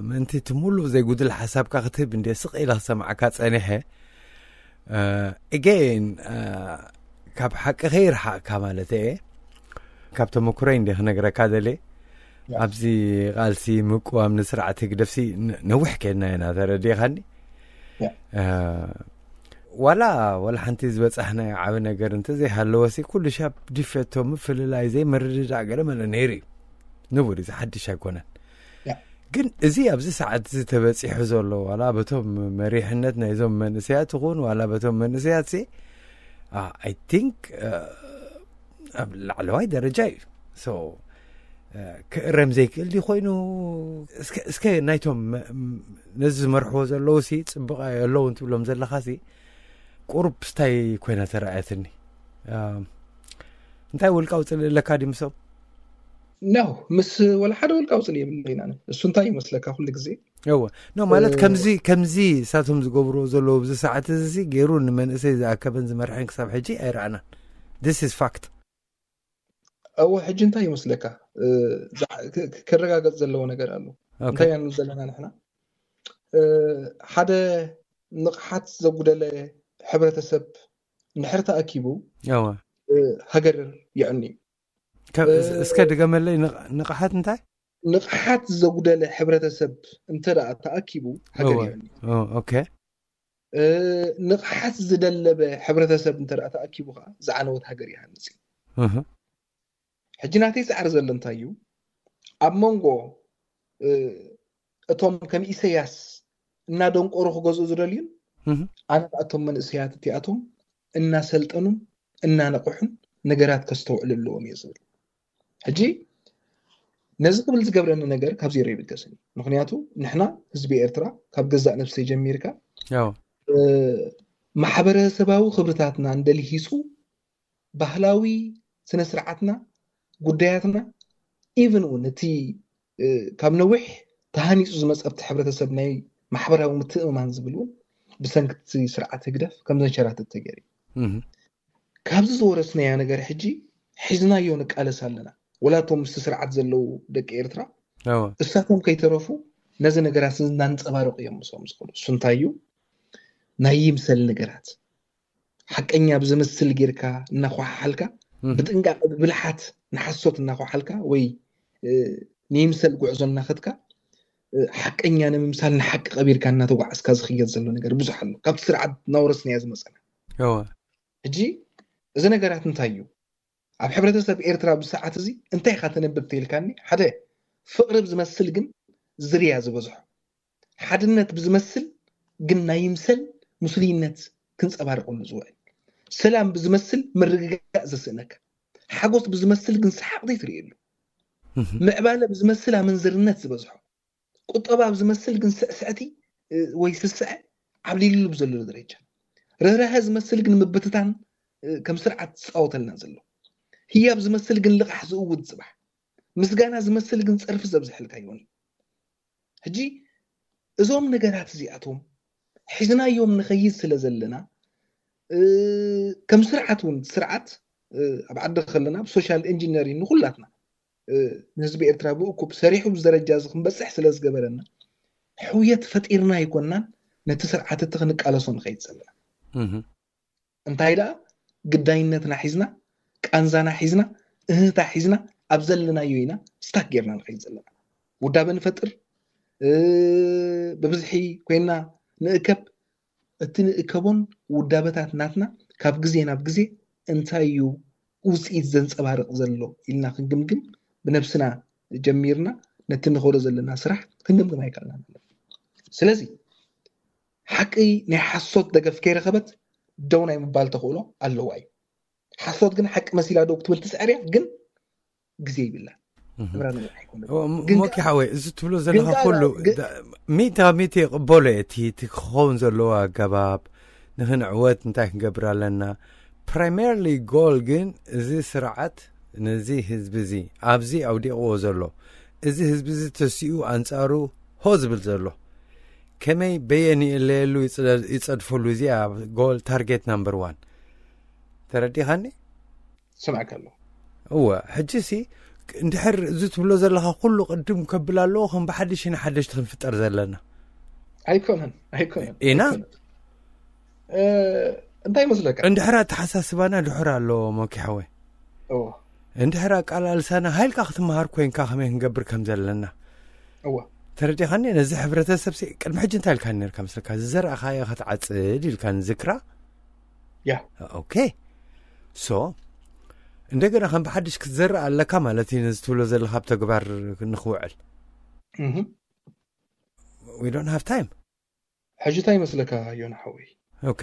ምእንቲ እቲ ሙሉእ ዘይጉድል ሓሳብካ ክትህብ እንደ ስቕ ኢለ ክሰምዓካ ፀኒሐ እገን ካብ ሓቂ ከይርሓቕካ ማለት እየ ካብ ተመክሮይ እንደ ክነግረካ ደልየ ኣብዚ ቃልሲ ምቅዋም ንስርዓት ህግደፍሲ ነዊሕ ከድና ኢና ተረዲእኻኒ ዋላ ዋላ ሓንቲ ዝበፃሕናዮ ዓብ ነገር እንተዘይሃለወሲ ኩሉ ሻብ ድፈቶ ምፍልላይ ዘይምርድዳእ ገለ መለ ነይሩ እዩ ንቡር እዚ ሓድሽ ኣይኮነን ግን እዚ ኣብዚ ሰዓት እዚ ተበፂሑ ዘሎ ዋላ በቶም መሪሕነት ናይዞም መንእሰያት ይኹን ዋላ በቶም መንእሰያት ሲ I think ኣብ ላዕለዋይ ደረጃ እዩ so ክእረም ዘይክእል ድዩ ኮይኑ እስከ ናይቶም ነዚ ዝመርሕዎ ዘለዉ ሲ ፅቡቕ ኣለዉ እንትብሎም ዘለኻ ሲ ቁሩብ ስታይ ኮይና ተረኣየትኒ እንታይ ውልቃዊ ፅልኢ ኣለካ ድዩ ምሶም ኖ ምስ ወላ ሓደ ውልቃዊ ፅልኢ የብለይና እሱ እንታይ ይመስለካ ኩሉ ግዜ እወ ኖ ማለት ከምዚ ከምዚ እሳቶም ዝገብርዎ ዘለዉ ኣብዚ ሰዓት እዚ ገይሩ ንመንእሰይ ዝኣከበን ዝመርሐን ክሳብ ሕጂ ኣይረኣናን this is fact እወ ሕጂ እንታይ ይመስለካ ክረጋገፅ ዘለዎ ነገር ኣሎ እንታይ ያንብል ዘለና ንሕና ሓደ ንቕሓት ዘጉደለ ሕብረተሰብ እንድሕር ተኣኪቡ ሃገር የዕኒ እስከ ድገመለይ ንቕሓት እንታይ ንቕሓት ዘጉደለ ሕብረተሰብ እንተ ተኣኪቡ ሃገር የዕኒ ኦኬ ንቕሓት ዝደለበ ሕብረተሰብ እንተ ተኣኪቡ ከዓ ዝዓነወት ሃገር ይሃንፅ እዩ ሕጂ ናተይ ፃዕሪ ዘሎ እንታይ እዩ ኣብ መንጎ እቶም ከም ኢሰያስ እናደንቆሩ ክገዝኡ ዝደልዩን ኣነ እቶም መንእሰያት እቲኣቶም እናሰልጠኑን እናነቕሑን ነገራት ከስተውዕሉ ኣለዎም እየ ዝብል ሕጂ ነዚ ክብል ዝገብረኒ ነገር ካብ ዜሮ ይብገስን ምክንያቱ ንሕና ህዝቢ ኤርትራ ካብ ገዛእ ነብሰይ ጀሚርካ ማሕበረሰባዊ ክብርታትና እንደልሂፁ ባህላዊ ስነ ስርዓትና ጉዳያትና even እውን እቲ ካብ ነዊሕ ተሃኒፁ ዝመፀ ኣብቲ ሕብረተሰብ ናይ ማሕበራዊ ምትእምማን ዝብል እውን ብሰንክቲ ስርዓት ህግደፍ ከም ዘንሸራተት ተገይሩ ካብዚ ዝወረስናዮ ነገር ሕጂ ሒዝናዮ ንቃለስ ኣለና ወላቶም ምስቲ ስርዓት ዘለዉ ደቂ ኤርትራ እሳቶም ከይተረፉ ነዚ ነገራት እናንፀባረቁ እዮም ምስኦም ዝኸዱ እሱ እንታይ እዩ ናይ ይምሰል ነገራት ሓቀኛ ብዝምስል ጌርካ እናኳሓሓልካ ብጥንቃቐ ብብልሓት ንሓሶት እናኳሓልካ ወይ ንይምሰል ጉዕዞ እናኸድካ ሓቀኛ ንምምሳል ንሓቂ ቀቢርካ እናተጓዓዝካ ዝኽየድ ዘሎ ነገር ብዙሕ ኣሎ ካብቲ ስርዓት እናወረስናዮ ዝመፀና ሕጂ እዚ ነገራት እንታይ እዩ ኣብ ሕብረተሰብ ኤርትራ ብሰዓት እዚ እንታይ ኢኻ ተነብብ ተይልካኒ ሓደ ፍቕሪ ብዝመስል ግን ዝርያ ዝበዝሖ ሓድነት ብዝመስል ግን ናይ ይምሰል ምስሉይነት ክንፀባረቀሉ ዝውዕል ሰላም ብዝመስል ምርግጋእ ዘስእነካ ሓጎስ ብዝመስል ግን ሰሓቕ ዘይትርእየሉ ምዕባለ ብዝመስል ኣመንዝርነት ዝበዝሖ ቁጠባ ብዝመስል ግን ስዕስዕቲ ወይ ስስዐ ዓብሊሉ ብዘለሉ ደረጃ ርህራሀ ዝመስል ግን ምብትታን ከም ስርዓት ዝፃወተልና ዘሎ ህያብ ዝመስል ግን ልቓሕ ዝእውድ ፅባሕ ምስጋና ዝመስል ግን ፀርፊ ዘብዝሐልካ ይኾን ሕጂ እዞም ነገራት እዚኣቶም ሒዝናዮም ንኸይድ ስለ ዘለና፣ እ፣ ከም ስርዓት እውን፣ ስርዓት፣ እ፣ ኣብ ዓዲ ከለና ብሶሻል ኢንጂነሪንግ ንኹላትና፣ እ፣ ንህዝቢ ኤርትራ ብእኩብ ሰሪሑ ኣብዚ ደረጃ እዚ ክንበጽሕ ስለ ዝገበረና፣ ሕውየት ፈጢርና ኣይኮናን ነቲ ስርዓት እቲ ክንቃለሶ ንኸይድ ዘለና። እህ። እንታይ ደኣ ግዳይነትና ሒዝና፣ ቃንዛና ሒዝና፣ እህህታ ሒዝና ኣብ ዘለናዮ ኢና ስታክ ጌርና ንኸይድ ዘለና። ውዳበ ንፈጥር፣ እ፣ ብብዝሒ ኮይና ንእከብ። እቲ ንእከቦን ውዳበታት ናትና ካብ ግዜ ናብ ግዜ እንታይ እዩ ውጽኢት ዘንጸባርቕ ዘሎ ኢልና ክንግምግም፣ ብነብስና ጀሚርና ነቲ ንኸዶ ዘለና ስራሕ ክንግምግም ኣይከኣልናን። ስለዚ ሓቂ ናይ ሓሶት ደገፍ ከይረኸበት ደው ናይ ምባል ተኽእሎ ኣለዋ እዩ። ሓሶት ግን ሓቂ መሲላ ደው ክትብል ትጽዕር እያ፣ ግን ግዜ ይብላ። እህ። እምራ ነገር ኣይኮነን። ኦ፣ ም-፣ ግን ሞኪ ከኣ ሓወይ፣ እዚ ትብሎ ግን ዘለኻ ከኣ ኩሉ ግን ዳ-፣ ሚእቲ ካብ ሚእቲ ይቕበሎ እየ። እቲ፣ እቲ ክኸውን ዘለዎ ኣገባብ፣ ንኽንዕወት እንታይ ክንገብር ኣለና? ፕራይመርሊ ጎል ግን እዚ ስርዓት ነዚ ህዝቢ እዚ ኣብዚ ኣውዲቕዎ ዘሎ፣ እዚ ህዝቢ እዚ ተሲኡ ኣንጻሩ ሆ ዝብል ዘሎ፣ ከመይ በየን ይእለየሉ ይጽለ-፣ ይጸድፈሉ፣ እዚኣ ጎል ታርጌት ናምበር ዋን። ተረዲኻኒ? ስምዐካ ኣለኹ። እወ፣ ሕጂ ሲ እንድሕር እዚ ትብሎ ዘለኻ ኩሉ ቅድም ከብል ኣለዎ፣ ከም ብሓድሽ ኢና ሓደሽቲ ክንፍጠር ዘለና። ኣይኮነን፣ ኣይኮነን፣ ኢና? ኣይኮነን። እ፣ እንታይ ይመስለካ? እንድሕር ኣተሓሳስባና ድሑር ኣለዎ፣ ሞኪ ሓወይ። እወ። እንድሕር ኣቃላልሳና ሃይልካ ክትመሃር ኮይንካ ከመይ ክንገብር ከም ዘለና። እወ። ተረዲኻኒ? ነዚ ሕብረተሰብ ሲ ቅድሚ ሕጂ እንታይ ኢልካ ነርካ መስለካ? ዝዘራእኻዮ ክትዓጽድ ኢልካ ንዝክራ? ያ። ኦኬ። ሶ፣ እንደገና ከም ብሓድሽ ክትዘርእ ኣለካ ማለት እዩ፣ ነዚ ትብሎ ዘለኻ ኣብ ተግባር ንኽውዕል። እህ። We don't have time። ሕጂ እንታይ ይመስለካ ዮና ሓወይ? ኦኬ።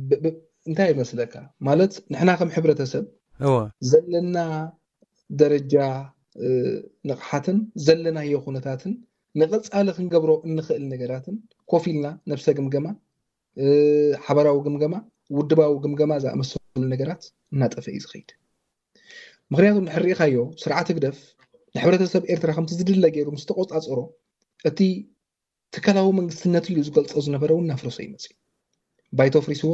ብ-፣ ብ-፣ እንታይ ይመስለካ? ማለት ንሕና ከም ሕብረተሰብ እወ። ዘለና ደረጃ፣ እ፣ ንቕሓትን ዘለናዮ ኩነታትን ንቐጻሊ ክንገብሮ እንኽእል ነገራትን ኮፍ ኢልና ነብሰ ግምገማ፣ እ፣ ሓበራዊ ግምገማ፣ ውድባዊ ግምገማ ዝኣመሰሉ ነገራት እናጠፈ እዩ ዝኸይድ። ምኽንያቱ እንድሕር ርኢኻዮ፣ ስርዓት ህግደፍ ንሕብረተሰብ ኤርትራ ከምቲ ዝድለ ገይሩ ምስ ተቖጻጸሮ፣ እቲ ትካላዊ መንግስትነት ኢሉ ዝገልጾ ዝነበረ እውን እናፍረሶ እዩ መጺኡ። ባይቶ ኣፍሪስዎ፣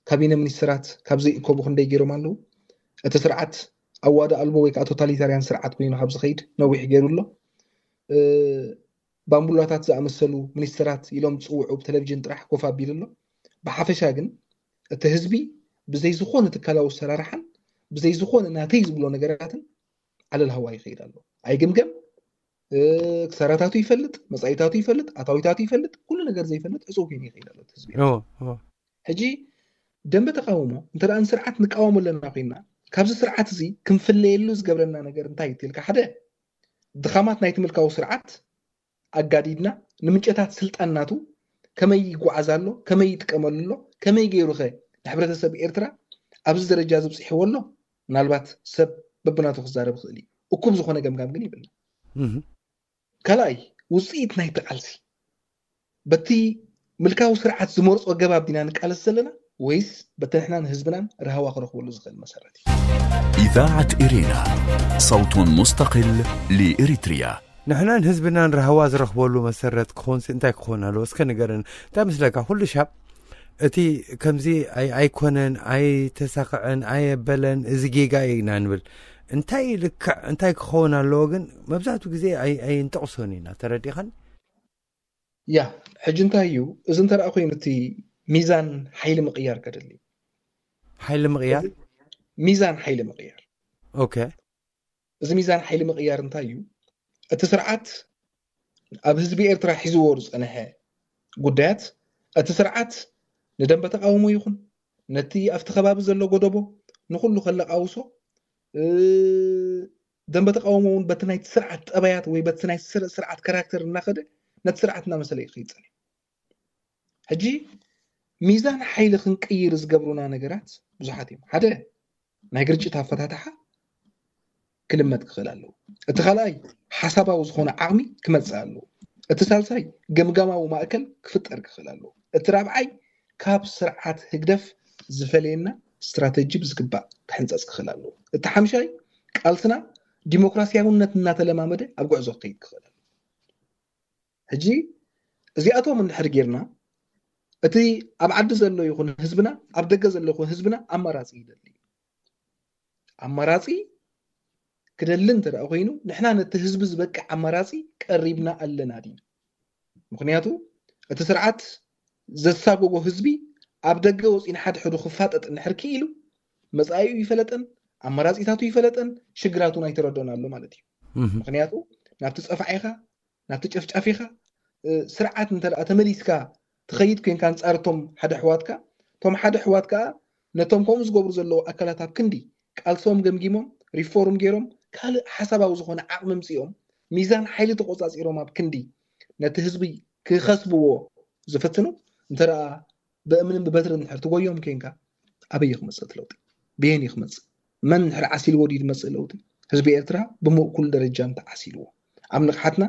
ካቢነ ሚኒስትራት ካብ ዘይእከቡ ክንደይ ገይሮም ኣለዉ። እቲ ስርዓት ኣዋዲ ኣልቦ ወይ ከዓ ቶታሊታርያን ስርዓት ኮይኑ ካብ ዝኸይድ ነዊሕ ገይሩ ኣሎ። እ፣ ባምቡላታት ዝኣመሰሉ ሚኒስትራት ኢሎም ዝጽውዑ ብቴሌቪዥን ጥራሕ ኮፍ ኣቢሉ ኣሎ። ብሓፈሻ ግን እቲ ህዝቢ ብዘይ ዝኾነ ትካላዊ ኣሰራርሓን ብዘይ ዝኾነ ናተይ ዝብሎ ነገራትን ዓለል ሃዋ ይኸይድ ኣሎ። ኣይግምገም፣ እ፣ ክሳራታቱ ይፈልጥ፣ መጻኢታቱ ይፈልጥ፣ ኣታዊታቱ ይፈልጥ፣ ኩሉ ነገር ዘይፈልጥ ዕጹው ኮይኑ ይኸይድ ኣሎ እቲ ህዝቢ። ኦ፣ ኦ። ሕጂ ደንበ ተቃውሞ እንተ ደኣ ንስርዓት ንቃወሞ ኣለና ኮይና፣ ካብዚ ስርዓት እዚ ክንፍለየሉ ዝገብረና ነገር እንታይ እዩ ትልካ? ሓደ፣ ድኻማት ናይቲ ምልካዊ ስርዓት ኣጋዲድና፣ ንምንጨታት ስልጣን ናቱ ከመይ ይጓዓዝ ኣሎ፣ ከመይ ይጥቀመሉ ኣሎ፣ ከመይ ገይሩ ኸ ንሕብረተሰብ ኤርትራ ኣብዚ ደረጃ እዚ ኣብጺሕዎ ኣሎ? ምናልባት ሰብ በብናቱ ክዛረብ ይኽእል እዩ። እኩብ ዝኾነ ገምጋም ግን ይብልና። እህ። ካልኣይ፣ ውጽኢት ናይቲ ቃልሲ በቲ ምልካዊ ስርዓት ዝመርጾ ኣገባብ ዲና ንቃለስ ዘለና ወይስ በቲ ንሕናን ህዝብናን ራህዋ ክረኽበሉ ዝኽእል መሰረት እዩ? إذاعة إرينا، صوت مستقل لإريتريا. ንሕናን ህዝብናን ራህዋ ዝረኽበሉ መሰረት ክኾንሲ እንታይ ክኾን ኣለዎ? እስከ ንገረን። እንታይ ምስለካ? ኩሉ ሻብ እቲ ከምዚ ኣይ-፣ ኣይኮነን፣ ኣይተሳኽዐን፣ ኣየበለን፣ እዚ ጌጋ እዩ ኢና ንብል። እንታይ ልክዕ፣ እንታይ ክኸውን ኣለዎ ግን መብዛሕትኡ ግዜ ኣይ-፣ ኣይንጠቕሶን ኢና። ተረዲኻን? ያ፣ ሕጂ እንታይ እዩ? እዚ እንተ ደኣ ኮይኑ እቲ ሚዛን ሓይሊ ምቕያር ከድሊ። ሓይሊ ምቕያር? ሚዛን ሓይሊ ምቕያር። ኦኬ። እዚ ሚዛን ሓይሊ ምቕያር እንታይ እዩ? እቲ ስርዓት ኣብ ህዝቢ ኤርትራ ሒዝዎ ዝጸንሐ ጉዳያት፣ እቲ ስርዓት ንደንበ ተቃውሞ ይኹን፣ ነቲ ኣብቲ ከባቢ ዘሎ ጎደቦ ንኹሉ ከለቃውሶ፣ እ፣ ደንበ ተቃውሞ እውን በቲ ናይቲ ስርዓት ጠባያት ወይ በቲ ናይ ስር-፣ ስርዓት ካራክተር እናኸደ ነቲ ስርዓት እናመሰለ እዩ ክኸይድ ጸኒሑ። ሕጂ ሚዛን ሓይሊ ክንቅይር ዝገብሩና ነገራት ብዙሓት እዮም። ሓደ፣ ናይ ግርጭት ኣፈታትሓ ክልመድ ክኽእል ኣለዎ። እቲ ካልኣይ፣ ሓሳባዊ ዝኾነ ዓቕሚ ክመጽእ ኣለዎ። እቲ ሳልሳይ፣ ገምጋማዊ ማእከል ክፍጠር ክኽእል ኣለዎ። እቲ ራብዓይ፣ ካብ ስርዓት ህግደፍ ዝፈለየና ስትራተጂ ብዝግባእ ክሕንጸጽ ክኽእል ኣለዎ። እቲ ሓምሻይ፣ ቃልስና ዲሞክራሲያውነት እናተለማመደ ኣብ ጉዕዞ ክኸይድ ክኽእል ኣለዎ። ሕጂ እዚኣቶም እንድሕር ጌርና፣ እቲ ኣብ ዓዲ ዘሎ ይኹን ህዝብና፣ ኣብ ደገ ዘሎ ይኹን ህዝብና ኣማራፂ ይደሊ። ኣማራፂ ክደሊ እንተ ደኣ ኮይኑ፣ ንሕና ነቲ ህዝቢ ዝበቅዕ ኣማራፂ ቀሪብና ኣለና ዲና? ምኽንያቱ እቲ ስርዓት ዘሳጎጎ ህዝቢ ኣብ ደገ ወፂኡ ንሓድሕዱ ክፋጠጥ እንድሕር ክኢሉ፣ መጻኢኡ ይፈለጠን ኣማራፂታቱ ይፈለጠን ሽግራቱን ኣይተረድኦን ኣሎ ማለት እዩ። ምኽንያቱ ናብቲ ፀፋዒኻ፣ ናብቲ ጨፍጫፊኻ፣ እ፣ ስርዓት እንተ ደኣ ተመሊስካ ትኸይድ ኮንካ ኣንጻር እቶም ሓደ ኣሕዋትካ፣ እቶም ሓደ ኣሕዋት ከኣ ነቶም ከምኡ ዝገብሩ ዘለዉ ኣካላት ኣብ ክንዲ ቃልሶም ገምጊሞም፣ ሪፎርም ገይሮም፣ ካልእ ሓሳባዊ ዝኾነ ዓቕሚ ኣምጺኦም፣ ሚዛን ሓይሊ ተቖጻጺሮም ኣብ ክንዲ ነቲ ህዝቢ ክኸስብዎ ዝፍትኑ፣ እንተ ደኣ ብእምንን ብበትርን እንድሕር ትጎዮም ኮንካ፣ ኣበይ እዩ ክመጽእ እቲ ለውጢ? ብየን እዩ ክመጽእ? መን እንድሕር ዓሲልዎ ድዩ ዝመጽእ ለውጢ? ህዝቢ ኤርትራ ብምእኩል ደረጃ እንተዓሲልዎ፣ ኣብ ንቕሓትና፣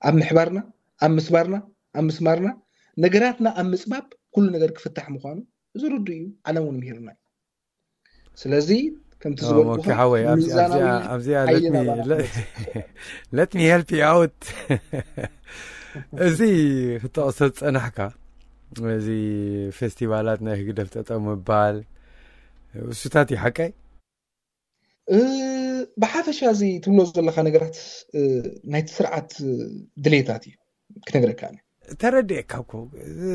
ኣብ ምሕባርና፣ ኣብ ምስባርና፣ ኣብ ምስማርና፣ ነገራትና ኣብ ምጽባብ ኩሉ ነገር ክፍታሕ ምዃኑ እዚ ርዱእ እዩ። ዓለም እውን ምሂርና እዩ። ስለዚ ከምቲ ዝበልኩኻ፣ ሓወይ፣ ኣብዚኣ let me help you out። እዚ ክጠቕሶ ዝጸናሕካ፣ እዚ ፌስቲቫላት ናይ ህግደፍ ጠጠው ምባል፣ እሱታት እዩ ሓቀይ? እ፣ ብሓፈሻ እዚ ትብሎ ዘለኻ ነገራት፣ እ፣ ናይቲ ስርዓት፣ እ፣ ድሌታት እዩ ክነግረካ ኣነ። ተረዲኤካ እኮ።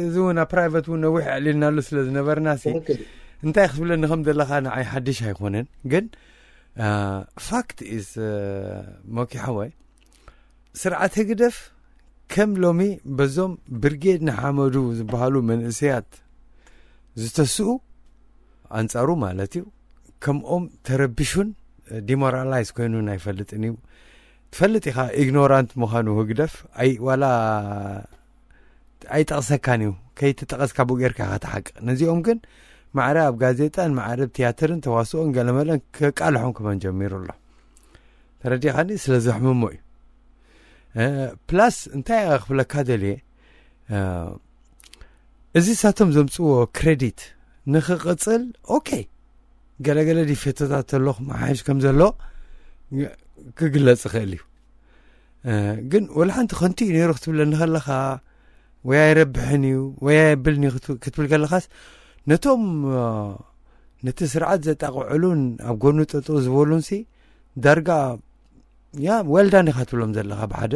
እዚ እውን ኣብ ፕራይቨት እውን ነዊሕ ኣዕሊልናሉ ስለ ዝነበርና ሲ፣ ትኽክል። እንታይ ክትብለኒ ከም ዘለኻ ንዓይ ሓድሽ ኣይኮነን። ግን፣ አ፣ ፋክት ኢዝ፣ እ፣ ሞኪ ሓወይ፣ ስርዓት ህግደፍ ከም ሎሚ በዞም ብርጌድ ንሓመዱ ዝበሃሉ መንእሰያት ዝተስኡ ኣንጻሩ ማለት እዩ፣ ከምኦም ተረቢሹን ዲሞራላይዝ ኮይኑን ኣይፈልጥን እዩ። ትፈልጥ ኢኻ ኢግኖራንት ምዃኑ ህግደፍ፣ ኣይ ዋላ ኣይጠቕሰካን እዩ፣ ከይትጠቐስካ ብኡ ጌርካ ኢኻ ትሓቅቕ። ነዚኦም ግን ማዕረ ኣብ ጋዜጣን ማዕረ ኣብ ትያትርን ተዋስኦን ገለመለን ከቃልሖም ክመን ጀሚሩ ኣሎ። ተረዲኻኒ? ስለ ዘሕምሞ እዩ። እ፣ ፕላስ እንታይ ክብለካ ደልየ፣ እ፣ እዚ ሳቶም ዘምጽዎ ክሬዲት ንኽቕጽል፣ ኦኬ፣ ገለገለ ዲፌቶታት ተሎ ክመሓየሽ ከም ዘሎ ክግለጽ ይኽእል እዩ። እ፣ ግን ወላ ሓንቲ ከንቱ እዩ ነይሩ ክትብለኒ ከለኻ፣ ወይ ኣይረብሕን እዩ፣ ወይ ኣየብልን እዩ ክት-፣ ክትብል ከለኻስ፣ ነቶም፣ እ፣ ነቲ ስርዓት ዘጣቕዕሉን ኣብ ጎኑ ጠጠው ዝበሉንሲ ዳርጋ፣ ያ፣ well done ኢኻ ትብሎም ዘለኻ ብሓደ።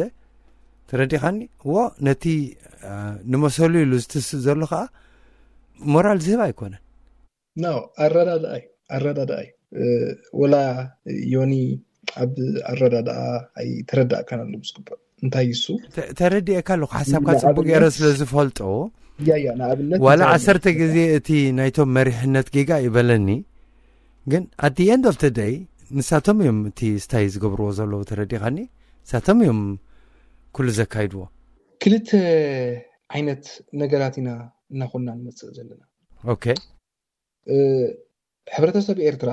ተረዲኻኒ? እዎ፣ ነቲ፣ እ፣ ንመሰሉ ኢሉ ዝትስእ ዘሎ ኸኣ ሞራል ዝህብ ኣይኮነን። ኖ፣ ኣረዳድኣ እዩ፣ ኣረዳድኣ እዩ። እ፣ ወላ ዮኒ ኣብ ኣረዳድኣ ኣይተረዳእካን ኣሎ ብዝግባእ። እንታይ እሱ? ተ-፣ ተረዲኤካ ኣለኹ፣ ሓሳብካ ንኣብነት ጽቡቅ ገይረ ስለ ዝፈልጦ፣ ያ፣ ያ፣ ንኣብነት ዋላ እንታይ ዓሰርተ ግዜ እቲ ናይቶም መሪሕነት ጌጋ ይበለኒ፣ ግን at the end of the day ንሳቶም እዮም እቲ ስታይ ዝገብርዎ ዘለዉ፣ ተረዲኻኒ? ንሳቶም እዮም ኩሉ ዘካይድዎ። ክልተ ዓይነት ነገራት ኢና እናኾንና ንመጽእ ዘለና። ኦኬ። እ፣ ሕብረተሰብ ኤርትራ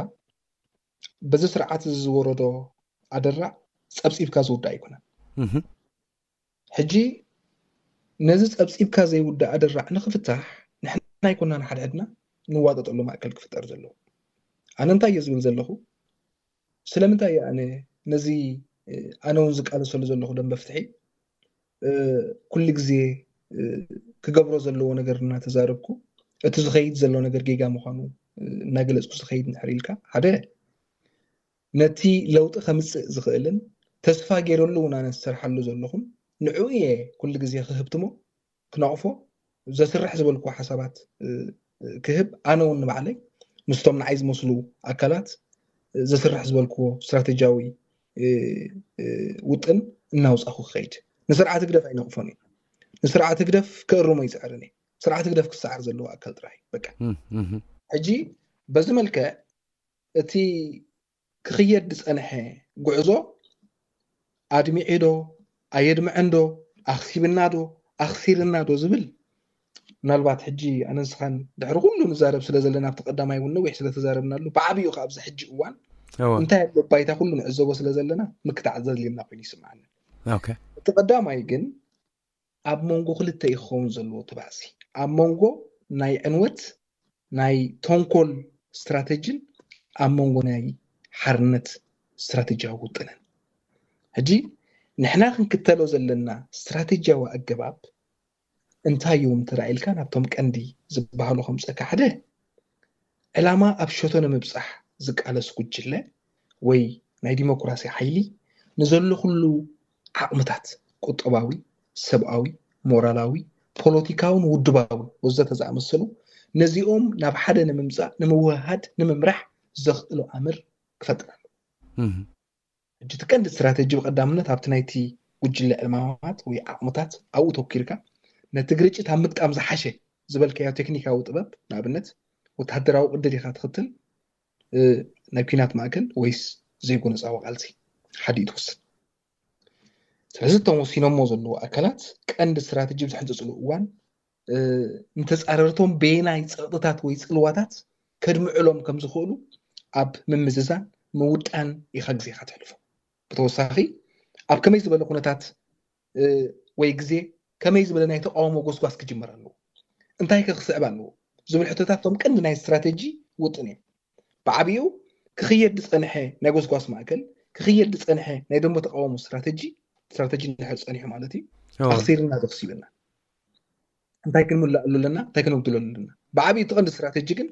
በዚ ስርዓት እዚ ዝወረዶ ኣደራዕ ጸብጺብካ ዝውዳእ ኣይኮነን። እህ። ሕጂ ነዚ ጸብጺብካ ዘይውዳእ ኣደራዕ ንኽፍታሕ ንሕና ኣይኮናን ሓድሕድና ንዋጠጠሉ ማእከል ክፍጠር ዘለዎ። ኣነ እንታይ እየ ዝብል ዘለኹ? ስለምንታይ እየ ኣነ ነዚ፣ እ፣ ኣነ እውን ዝቃለሰሉ ዘለኹ ደንበ ፍትሒ፣ እ፣ ኩሉ ግዜ፣ እ፣ ክገብሮ ዘለዎ ነገር እናተዛረብኩ፣ እቲ ዝኸይድ ዘሎ ነገር ጌጋ ምዃኑ፣ እ፣ እናገለጽኩ ዝኸይድ እንድሕር ኢልካ፣ ሓደ፣ ነቲ ለውጢ ከምጽእ ዝኽእልን ተስፋ ገይረሉ እውን ኣነ ዝሰርሓሉ ዘለኹን ንዕኡ እየ ኩሉ ግዜ ክህብትሞ፣ ክነቕፎ፣ ዘስርሕ ዝበልኩዎ ሓሳባት፣ እ፣ እ፣ ክህብ፣ ኣነ እውን ንባዕለይ ምስቶም ንዓይ ዝመስሉ ኣካላት፣ እ፣ ዘስርሕ ዝበልኩዎ ስትራተጂያዊ፣ እ፣ እ፣ ውጥን እናውጻኹ ክኸይድ። ንስርዓት ህግደፍ ኣይነቕፎን እዩ። ንስርዓት ህግደፍ ክእርሞ ይጽዕርን እዩ። ስርዓት ህግደፍ ክሰዓር ዘለዎ ኣካል ጥራሕ እዩ። በቃ። እም፣ እም። ሕጂ በዚ መልክዕ እቲ ክኽየድ ዝጸንሐ ጉዕዞ ኣድሚዑ ዶ፣ ኣየድምዐን ዶ፣ ኣኽሲብና ዶ፣ ኣኽሲርና ዶ ዝብል፣ ምናልባት ሕጂ ኣነ ንስኻን ድሕሪ ኩሉ ንዛረብ ስለ ዘለና፣ ኣብቲ ቀዳማይ እውን ነዊሕ ስለ ተዛረብናሉ፣ ብዓቢኡ ከኣ ኣብዚ ሕጂ እዋን እወ። እንታይ ኣሎ ባይታ ኩሉ ንዕዘቦ ስለ ዘለና፣ ምክታዕ ዘድልየና ኮይኑ ይስምዓኒ። ኦኬ። እቲ ቀዳማይ ግን ኣብ መንጎ ክልተ እዩ ክኸውን ዘለዎ እቲ ባእሲ። ኣብ መንጎ ናይ ዕንወት፣ ናይ ተንኮል ስትራተጂን ኣብ መንጎ ናይ ሓርነት ስትራተጂያዊ ውጥንን። ሕጂ ንሕና ክንክተሎ ዘለና ስትራተጂያዊ ኣገባብ እንታይ እዮም እንተ ኢልካ፣ ናብቶም ቀንዲ ዝበሃሉ ከምፀካ ሓደ፣ ዕላማ ኣብ ሸቶ ንምብፃሕ ዝቃለስ ጉጅለ ወይ ናይ ዲሞክራሲ ሓይሊ ንዘሎ ኩሉ ዓቕምታት፣ ቁጠባዊ፣ ሰብኣዊ፣ ሞራላዊ፣ ፖለቲካውን ውድባውን ወዘተ ዝኣመሰሉ፣ ነዚኦም ናብ ሓደ ንምምፃእ፣ ንምውህሃድ፣ ንምምራሕ ዘኽእሎ ኣምር ክፈጥር ኣሎ። ሕጂ እቲ ቀንዲ ስትራተጂ ብቐዳምነት ኣብቲ ናይቲ ጉጅለ ዕማማት ወይ ዓቕምታት ኣብኡ ተኪርካ፣ ነቲ ግርጭት ኣብ ምግጣም ዝሓሸ ዝበልካዮ ቴክኒካዊ ጥበብ፣ ንኣብነት ወተሃደራዊ ቅዲ ዲኻ ትኽተል፣ እ፣ ናይ ኲናት ማእከል ወይስ ዘይጎነጻዊ ቃልሲ፣ ሓዲኡ ትውስን። ስለዚ እቶም ወሲኖሞ ዘለዉ ኣካላት ቀንዲ ስትራተጂ ብዝሕንጽጽሉ እዋን፣ እ፣ ንተጻረርቶም በየናይ ጸቕጥታት ወይ ጽልዋታት ከድምዕሎም ከም ዝኽእሉ ኣብ ምምዝዛን ምውጣን ኢኻ ግዜኻ ተሕልፎ። ብተወሳኺ ኣብ ከመይ ዝበለ ኩነታት፣ እ፣ ወይ ግዜ ከመይ ዝበለ ናይ ተቃውሞ ጎስጓስ ክጅመር ኣለዎ፣ እንታይ ከ ክስዕብ ኣለዎ ዝብል ሕቶታት እቶም ቀንዲ ናይ ስትራተጂ ውጥን እዮም። ብዓቢኡ ክኽየድ ዝጸንሐ ናይ ጎስጓስ ማእከል፣ ክኽየድ ዝጸንሐ ናይ ደንበ ተቃውሞ ስትራተጂ፣ ስትራተጂ እንድሕር ጸኒሑ ማለት እዩ፣ ኣኽሲርና ዶ ክሲብና፣ እንታይ ክንምልኣሉ ኣለና፣ እንታይ ክነጉድለሉ ኣለና። ብዓቢኡ እቲ ቀንዲ ስትራተጂ ግን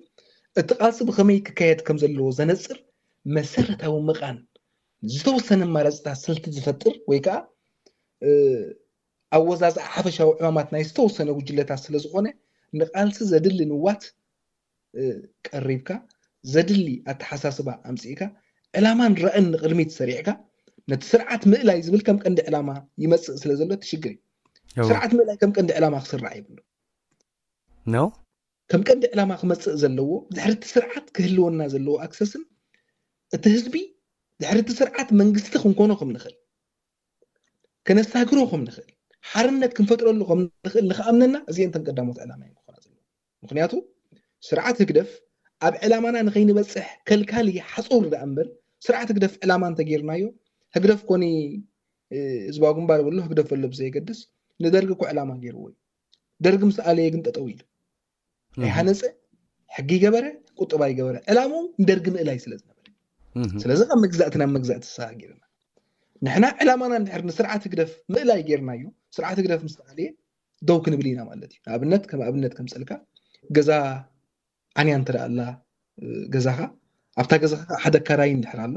እቲ ቃልሲ ብኸመይ ክካየድ ከም ዘለዎ ዘነጽር መሰረታዊ ምቓን፣ ዝተወሰነ ኣማራፅታት ስልቲ ዝፈጥር ወይ ከዓ፣ እ፣ ኣወዛዝኣ ሓፈሻዊ ዕማማት ናይ ዝተወሰነ ጉጅለታት ስለ ዝኾነ፣ ንቃልሲ ዘድሊ ንዋት፣ እ፣ ቀሪብካ፣ ዘድሊ ኣተሓሳስባ ኣምፂእካ፣ ዕላማን ራእን ንቕድሚት ሰሪዕካ፣ ነቲ ስርዓት ምእላይ ዝብል ከም ቀንዲ ዕላማ ይመፅእ ስለ ዘሎ፣ እቲ ሽግር እዩ። እወ። ስርዓት ምእላይ ከም ቀንዲ ዕላማ ክስራዕ የብሉ። ነው። ከም ቀንዲ ዕላማ ክመፅእ ዘለዎ፣ ድሕሪ እቲ ስርዓት ክህልወና ዘለዎ ኣክሰስን፣ እቲ ህዝቢ ድሕሪ እቲ ስርዓት መንግስቲ ክንኮኖ ከም ንኽእል፣ ከነሳግሮ ከም ንኽእል፣ ሓርነት ክንፈጥረሉ ከም ንኽእል ንኽኣምነና፣ እዚአን እተን ቀዳሞት ዕላማ እየን ክኾና ዘለዎ። ምኽንያቱ ስርዓት ህግደፍ ኣብ ዕላማና ንኸይንበፅሕ ከልካሊ ሓፁር ደኣ እምበር፣ ስርዓት ህግደፍ ዕላማ እንተጌርናዮ፣ ህግደፍ ኮኒ፣ እ፣ ህዝባዊ ግንባር በሎ፣ ህግደፍ በሎ ብዘየገድስ፣ ንደርጊ እኮ ዕላማ ገይርዎ እዩ። ደርጊ ምስ ኣለየ ግን ጠጠው ኢሉ። ናይ ሃነፀ፣ ሕጊ ይገበረ፣ ቁጠባ ይገበረ። ዕላምኡ ንደርጊ ምእላይ ስለ ዝነበረ። እህ። ስለዚ ካብ መግዛእቲ ናብ መግዛእቲ ተሰጋጊርና። ንሕና ዕላማና እንድሕር ንስርዓት ህግደፍ ምእላይ ጌርናዮ፣ ስርዓት ህግደፍ ምስ ተኣልየ ደው ክንብል ኢና ማለት እዩ። ንኣብነት፣ ከም ኣብነት ከምፀልካ፣ ገዛ ዓንያ እንተ ደኣ ኣላ፣ እ፣ ገዛኻ፣ ኣብታ ገዛኻ ሓደ ኣካራይ እንድሕር ኣሎ፣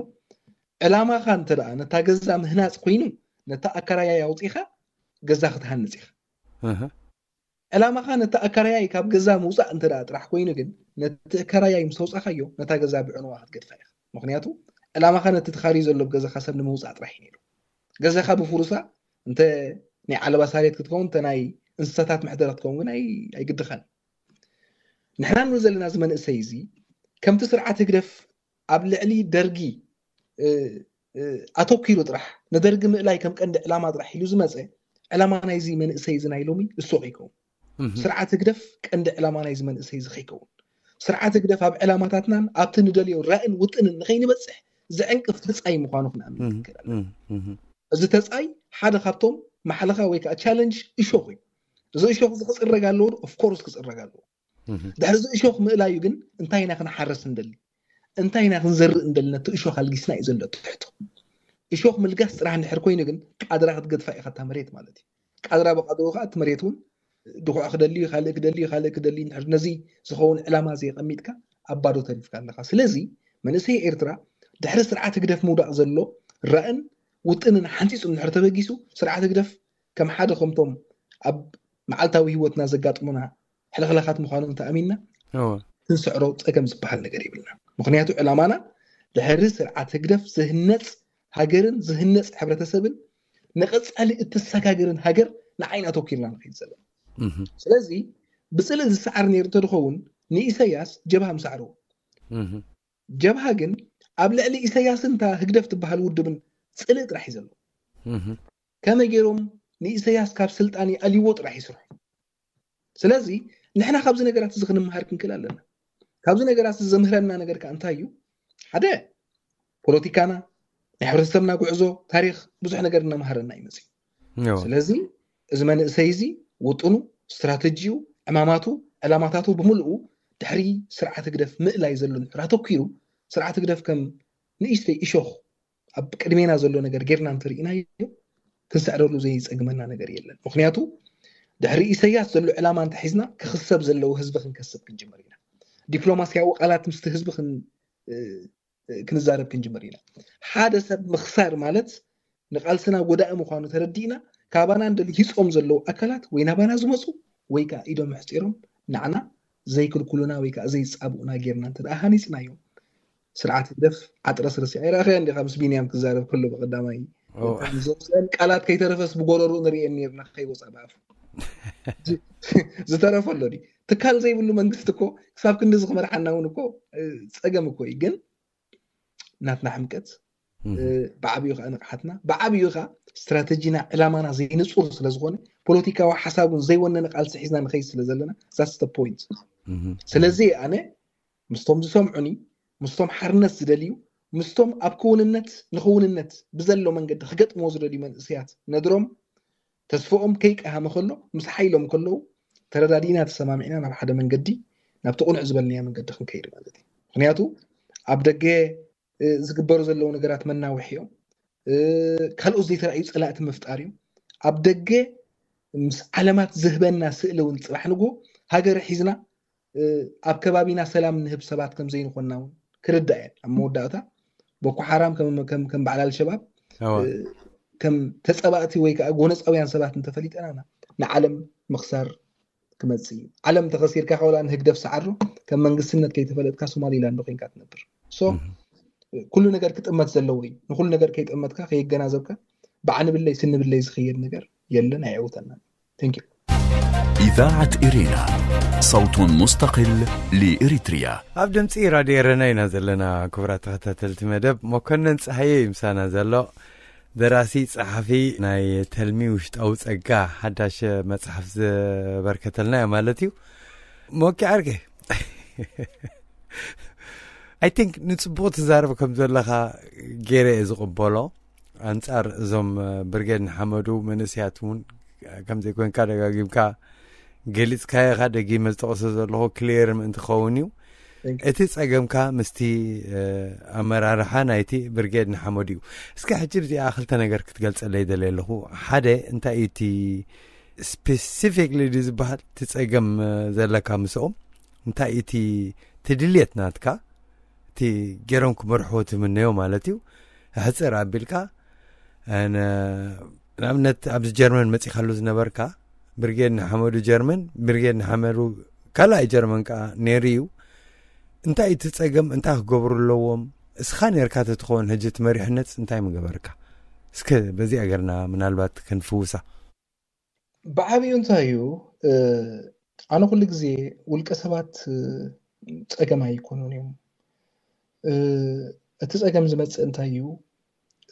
ዕላማኻ እንተ ደኣ ነታ ገዛ ምህናፅ ኮይኑ፣ ነታ ኣካራያይ ኣውፂኻ ገዛ ክትሃንፅ ኢኻ። እህ። ዕላማኻ ነቲ ኣካራያይ ካብ ገዛ ምውፃእ እንተ ደኣ ጥራሕ ኮይኑ ግን፣ ነቲ ኣካራያይ ምስ ኣውፃኻዮ፣ ነታ ገዛ ብዕንዋ ክትገድፋ ኢኻ። ምኽንያቱ፣ ዕላማኻ ነቲ ተኻርዩ ዘሎ ገዛኻ ሰብ ንምውፃእ ጥራሕ እዩ ነይሩ። ገዛኻ ብፍሩሳ፣ እንተ ናይ ዓለባ ሳሬት ክትከውን፣ እንተ ናይ እንስሳታት መሕደሪ ክትከውን ግን ኣይ-፣ ኣይግድኻን። ንሕና ንብል ዘለና እዚ መንእሰይ እዚ፣ ከምቲ ስርዓት ህግደፍ ኣብ ልዕሊ ደርጊ፣ እ፣ እ፣ ኣተኪሩ ጥራሕ፣ ንደርጊ ምእላይ ከም ቀንዲ ዕላማ ጥራሕ ኢሉ ዝመፀ፣ ዕላማ ናይዚ መንእሰይ እዚ ናይ ሎሚ እሱ ከይከውን። እህ። ስርዓት ህግደፍ ቀንዲ ዕላማ ናይዚ መንእሰይ እዚ ከይከውን። ስርዓት ህግደፍ ኣብ ዕላማታትናን ኣብቲ ንደልዮ ራእን ውጥንን ንኸይንበፅሕ ዘዕንቅፍ ተፃይ ምዃኑ ክንኣምን እህ፣ ይከኣል። እህ፣ እህ። እዚ ተፃይ ሓደ ካብቶም ማሕለኻ ወይ ከዓ ቻለንጅ እሾኽ እዩ። እዚ እሾኽ እዚ ክፅረግ ኣለዎ ዶ? ኦፍኮርስ ክፅረግ ኣለዎ። እህ። ድሕሪ እዚ እሾኽ ምእላዩ ግን እንታይ ኢና ክንሓርስ እንደሊ? እንታይ ኢና ክንዘርእ እንደሊ? ነቲ እሾኽ ኣልጊስና እዩ ዘሎ እቲ ሕቶ። እሾኽ ምልጋስ ጥራሕ እንድሕር ኮይኑ ግን ቃድራ ክትገድፋ ኢኻ እታ መሬት ማለት እዩ። ቃድራ ብቃድሩ ከዓ እቲ መሬት እውን ድኹዕ ክደሊ እዩ፣ ካልእ ክደሊ እዩ፣ ካልእ ክደሊ እዩ። እንድሕር ነዚ ዝኸውን ዕላማ ዘየቐሚጥካ ኣብ ባዶ ተሪፍካ ኣለኻ። ስለዚ መንእሰይ ኤርትራ ድሕሪ ስርዓት ህግደፍ ምውዳቕ ዘሎ ራእን ውጥንን ሓንፂፁ እንድሕር ተበጊሱ፣ ስርዓት ህግደፍ ከም ሓደ ከምቶም ኣብ መዓልታዊ ህይወትና ዘጋጥሙና ሕልኽላኻት ምዃኖም ተኣሚንና እወ። ክንስዕሮ ጸገም ዝበሃል ነገር የብልና። ምኽንያቱ ዕላማና ድሕሪ ስርዓት ህግደፍ ዝህነጽ ሃገርን ዝህነጽ ሕብረተሰብን ንቐጻሊ እትሰጋገርን ሃገር ንዓይን ኣተኪርና ንኸይድ ዘለና። እህ። ስለዚ ብጽልኢ ዝሰዓር ነይሩ እንተዝኸውን ንኢሰያስ ጀብሃ ምሰዓርዎ። እህ። ጀብሃ ግን ኣብ ልዕሊ ኢሰያስን እታ ህግደፍ ትበሃል ውድብን ጽልኢ ጥራሕ እዩ ዘለዎ። እህ። ከመይ ገይሮም ንኢሰያስ ካብ ስልጣን ይኣልይዎ ጥራሕ ይስርሑ። ስለዚ ንሕና ካብዚ ነገራት እዚ ክንመሃር ክንክእል ኣለና። ካብዚ ነገራት እዚ ዘምህረና ነገር ከኣ እንታይ እዩ? ሓደ፣ ፖለቲካና፣ ናይ ሕብረተሰብና ጉዕዞ፣ ታሪኽ ብዙሕ ነገር እናመሃረና እዩ መፅዩ። እዎ። ስለዚ እዚ መንእሰይ እዚ ውጥኑ፣ ስትራተጂኡ፣ ዕማማቱ፣ ዕላማታቱ ብምልኡ ድሕሪ ስርዓት ህግደፍ ምእላይ ዘሎ እንድሕር ኣተኪሩ፣ ስርዓት ህግደፍ ከም ንእሽተይ እሾኽ ኣብ ቅድሜና ዘሎ ነገር ጌርና እንተርኢናዮ፣ ክንስዕረሉ ዘይጸግመና ነገር የለን። ምኽንያቱ ድሕሪ ኢሰያስ ዘሎ ዕላማ እንተሒዝና፣ ክኽሰብ ዘለዎ ህዝቢ ክንከስብ ክንጅምር ኢና። ዲፕሎማስያዊ ቃላት ምስቲ ህዝቢ ክን-፣ እ፣ እ፣ ክንዛረብ ክንጅምር ኢና። ሓደ ሰብ ምኽሳር ማለት ንቓልስና ጎዳኢ ምዃኑ ተረዲእና፣ ካባና እንደልሂጾም ዘለዉ ኣካላት ወይ ናባና ዝመጹ ወይ ከኣ ኢዶም ኣሕጺሮም ንዓና ዘይክልኩሉና ወይ ከኣ ዘይጻብኡና ጌርና እንተ ደኣ ሃኒጽናዮም፣ ስርዓት ህግደፍ ዓጥረስረሲ ኣይረኣኸያ እንዲኻ ምስ ቢንያም ክዛረብ ከሎ ብቐዳማይ ኦ። እተን ዘውፅአን ቃላት ከይተረፈስ ብጎረሩ ንርእየን ኔርና ከይወፃ ብኣፉ ዝ-፣ ዝተረፈ ኣሎ ድዩ? ትካል ዘይብሉ መንግስቲ እኮ ክሳብ ክንድዚ ክመርሓና እውን እኮ እ፣ ፀገም እኮ እዩ። ግን ናትና ሕምቀት እ፣ ብዓብዩ ከዓ ንቕሓትና ብዓብዩ ከዓ ስትራተጂና ዕላማና ዘይንፁር ስለዝኾነ ፖለቲካዊ ሓሳብ እውን ዘይወነነ ቃልሲ ሒዝና ንኸይድ ስለ ዘለና that's the point። ስለዚ ኣነ ምስቶም ዝሰምዑኒ ምስቶም ሓርነት ዝደልዩ ምስቶም ኣብ ክውንነት ንኽውንነት ብዘሎ መንገዲ ክገጥምዎ ዝደልዩ መንእሰያት ነድሮም ተስፍኦም ከይቀሃመ ከሎ ምስ ሓይሎም ከለዉ ተረዳዲእና ተሰማሚዕና ናብ ሓደ መንገዲ ናብቲ ቁኑዕ ዝበልናዮ መንገዲ ክንከይድ ማለት እዩ። ምክንያቱ ኣብ ደገ እ፣ ዝግበሩ ዘለዉ ነገራት መናውሒ እዮም። እ፣ ካልኦት ዘይተረኣዩ ፀላእቲ ምፍጣር እዮም። ኣብ ደገ ምስ ዓለማት ዝህበና ስእሊ እውን ፅባሕ ንግሆ ሃገር ሒዝና እ፣ ኣብ ከባቢና ሰላም ንህብ ሰባት ከም ዘይንኾንና እውን ክርዳእ እየን። ኣብ መወዳእታ ቦኮ ሓራም ከም፣ ከም፣ ከም በዓል ኣልሸባብ ኣዋ። እ፣ ከም ተፀባእቲ ወይ ከዓ ጎነፃውያን ሰባት እንተፈሊጠና ኢና ንዓለም ምኽሳር ክመፅእ እዩ። ዓለም ተኸሲርካ ከውላ ንህግደፍ ሰዓሮ ከም መንግስትነት ከይተፈለጥካ ሶማሊላንድ ኮይንካ ትነብር። ሶ ኩሉ ነገር ክጥመት ዘለዎ እዩ። ንኩሉ ነገር ከይጠመትካ ከየገናዘብካ ብዓንብለይ ስንብለይ ዝኸየድ ነገር የለን፣ ኣየዕውተናን። Thank you። إذاعة إرينا، صوت مستقل لإريتريا. ኣብ ድምፂ ራድዮ ኤረና ኢና ዘለና። ክቡራት ተኸታተልቲ መደብ፣ መኮነን ፀሃየ እዩ ምሳና ዘሎ። ደራሲ፣ ጸሓፊ ናይ ተልሚ ውሽጣዊ ጸጋ ሓዳሽ መጽሓፍ ዘበርከተልና እያ ማለት እዩ። ሞኪ ዓርከይ፣ I think ንጽቡቕ ትዛረብ ከም ዘለኻ ገይረ እየ ዝቕበሎ። ኣንጻር እዞም ብርጌድ ንሓመዱ መንእሰያት እውን ከም ዘይኮንካ ደጋጊምካ ገሊጽካዮ ኢኻ። ደጊመ ዝጠቕሶ ዘለኹ ክሊየር ምእንቲ ክኸውን እዩ። እቲ ጸገምካ ምስቲ ኣመራርሓ ናይቲ ብርጌድ ንሓመዱ እዩ። እስከ ሕጂ ብዚኣ ክልተ ነገር ክትገልጸለይ ደልየ ኣለኹ። ሓደ እንታይ እዩ እቲ ስፔሲፊክሊ ድዩ ዝበሃል እቲ ጸገም ዘለካ ምስኦም? እንታይ እዩ እቲ ድልየት ናትካ? እቲ ገይሮም ክመርሕዎ ትምነዮ ማለት እዩ። ሕጽር ኣቢልካ ንኣብነት ኣብዚ ጀርመን መጺኻሉ ዝነበርካ ብርጌድ ንሓመዱ ጀርመን፣ ብርጌድ ንሓመዱ ካልኣይ ጀርመን ከዓ ነይሩ እዩ። እንታይ እቲ ጸገም እንታይ ክገብሩ ኣለዎም? እስኻ ነርካ ተትኸውን ሕጂ እቲ መሪሕነት እንታይ ምገበርካ? እስከ በዚኣ ገርና ምናልባት ክንፍውሳ። ብዓብዩ እንታይ እዩ፣ ኣነ ኩሉ ግዜ ውልቀ ሰባት ጸገም ኣይኮኑን እዮም። እቲ ጸገም ዝመጽእ እንታይ እዩ?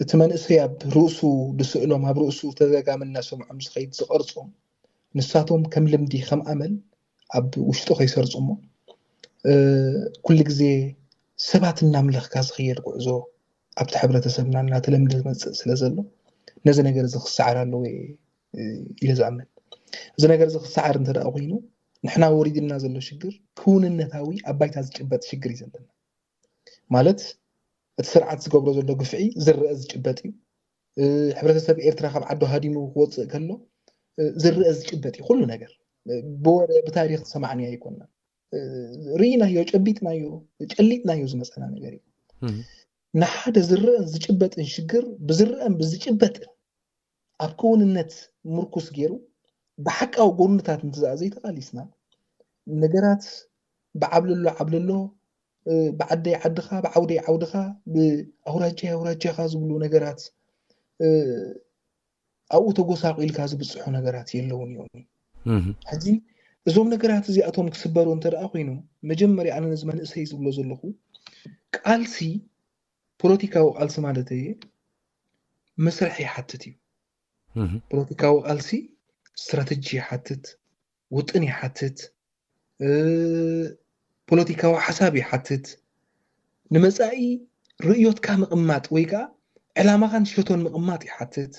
እቲ መንእሰይ ኣብ ርእሱ ዝስእሎም፣ ኣብ ርእሱ ተደጋሚ እናሰምዖም ዝኸይድ ዝቐርጾም፣ ንሳቶም ከም ልምዲ ከም ኣመል ኣብ ውሽጡ ከይሰርጹ እሞ ኩሉ ግዜ ሰባት እናምለኽካ ዝኸየድ ጉዕዞ ኣብቲ ሕብረተሰብና እናተለምደ ዝመፅእ ስለ ዘሎ ነዚ ነገር እዚ ክሰዓር ኣለዎ ኢለ ዝኣምን። እዚ ነገር እዚ ክሰዓር እንተ ደኣ ኮይኑ ንሕና ወሪድና ዘሎ ሽግር ክውንነታዊ ኣብ ባይታ ዝጭበጥ ሽግር እዩ ዘለና። ማለት እቲ ስርዓት ዝገብሮ ዘሎ ግፍዒ ዝረአ ዝጭበጥ እዩ። ሕብረተሰብ ኤርትራ ካብ ዓዱ ሃዲሙ ክወፅእ ከሎ ዝረአ ዝጭበጥ እዩ ኩሉ ነገር። ብወረ ብታሪክ ዝሰማዕናዮ ኣይኮንና። ርኢናዮ፣ ጨቢጥናዮ፣ ጨሊጥናዮ ዝመፀና ነገር እዩ። ንሓደ ዝረአን ዝጭበጥን ሽግር ብዝረአን ብዝጭበጥን ኣብ ክውንነት ምርኩስ ገይሩ ብሓቃዊ ጎንታት እንትዘኣ ዘይተቃሊስና ነገራት ብዓብልሎ ዓብልሎ ብዓደይ ዓድኻ ብዓውደይ ዓውድኻ ብኣውራጃይ ኣውራጃኻ ዝብሉ ነገራት ኣብኡ ተጎሳቂልካ ዝብፅሑ ነገራት የለውን እዮም። ሕጂ እዞም ነገራት እዚኣቶም ክስበሩ እንተ ደኣ ኮይኖም መጀመርያ ኣነ ነዚ መንእሰይ ዝብሎ ዘለኹ ቃልሲ ፖለቲካዊ ቃልሲ ማለት እየ መስርሕ ይሓትት እዩ። ፖለቲካዊ ቃልሲ ስትራተጂ ይሓትት፣ ውጥን ይሓትት፣ ፖለቲካዊ ሓሳብ ይሓትት፣ ንመፃኢ ርእዮትካ ምቕማጥ ወይ ከዓ ዕላማኻን ሸቶን ምቕማጥ ይሓትት።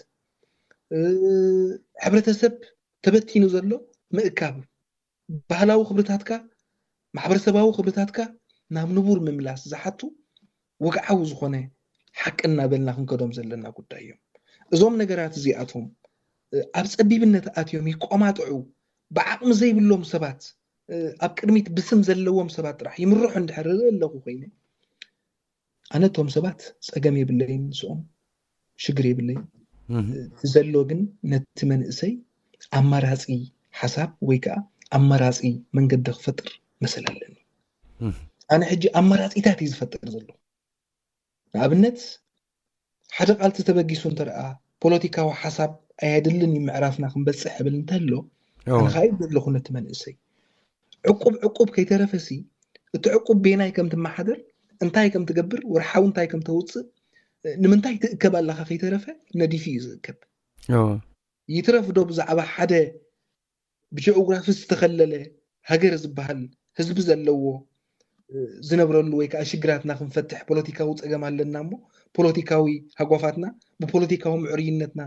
ሕብረተሰብ ተበቲኑ ዘሎ ምእካብ፣ ባህላዊ ክብርታትካ፣ ማሕበረሰባዊ ክብርታትካ ናብ ንቡር ምምላስ ዝሓቱ ወግዓዊ ዝኾነ ሓቂ እናበልና ክንከዶም ዘለና ጉዳይ እዮም። እዞም ነገራት እዚኣቶም ኣብ ጸቢብነት ኣትዮም ይቆማጥዑ፣ ብዓቕሚ ዘይብሎም ሰባት፣ ኣብ ቅድሚት ብስም ዘለዎም ሰባት ጥራሕ ይምርሑ እንድሕር ርኢ ኣለኹ ኮይነ፣ ኣነ እቶም ሰባት ጸገም የብለይን፣ ምስኦም ሽግር የብለይን። ዘሎ ግን ነቲ መንእሰይ ኣማራጺ ሓሳብ ወይ ከዓ ኣማራጺ መንገዲ ክፈጥር መሰል ኣለኒ። ኣነ ሕጂ ኣማራጺታት እዩ ዝፈጥር ዘሎ። ንኣብነት፣ ሓደ ቃልሲ ተበጊሱ እንተደኣ ፖለቲካዊ ሓሳብ ኣየድልን እዩ ምዕራፍና ክንበጽሕ እብል እንተሎ፣ ኣነ ከዓ ይብል ኣለኹ ነቲ መንእሰይ። ዕቁብ ዕቁብ ከይተረፈሲ፣ እቲ ዕቁብ ቤናይ ከም ትመሓደር፣ እንታይ ከም ትገብር፣ ወርሓዊ እንታይ ከም ተውፅእ፣ ንምንታይ ትእከብ ኣለኻ ከይተረፈ ነዲፉ እዩ ዝእከብ። ይትረፍ ዶ ብዛዕባ ሓደ ብጂኦግራፊ ዝተኸለለ ሃገር ዝበሃል ህዝቢ ዘለዎ ዝነብረሉ ወይ ከዓ ሽግራትና ክንፈትሕ ፖለቲካዊ ፀገም ኣለና እሞ ፖለቲካዊ ሃጓፋትና ብፖለቲካዊ ምዕሩይነትና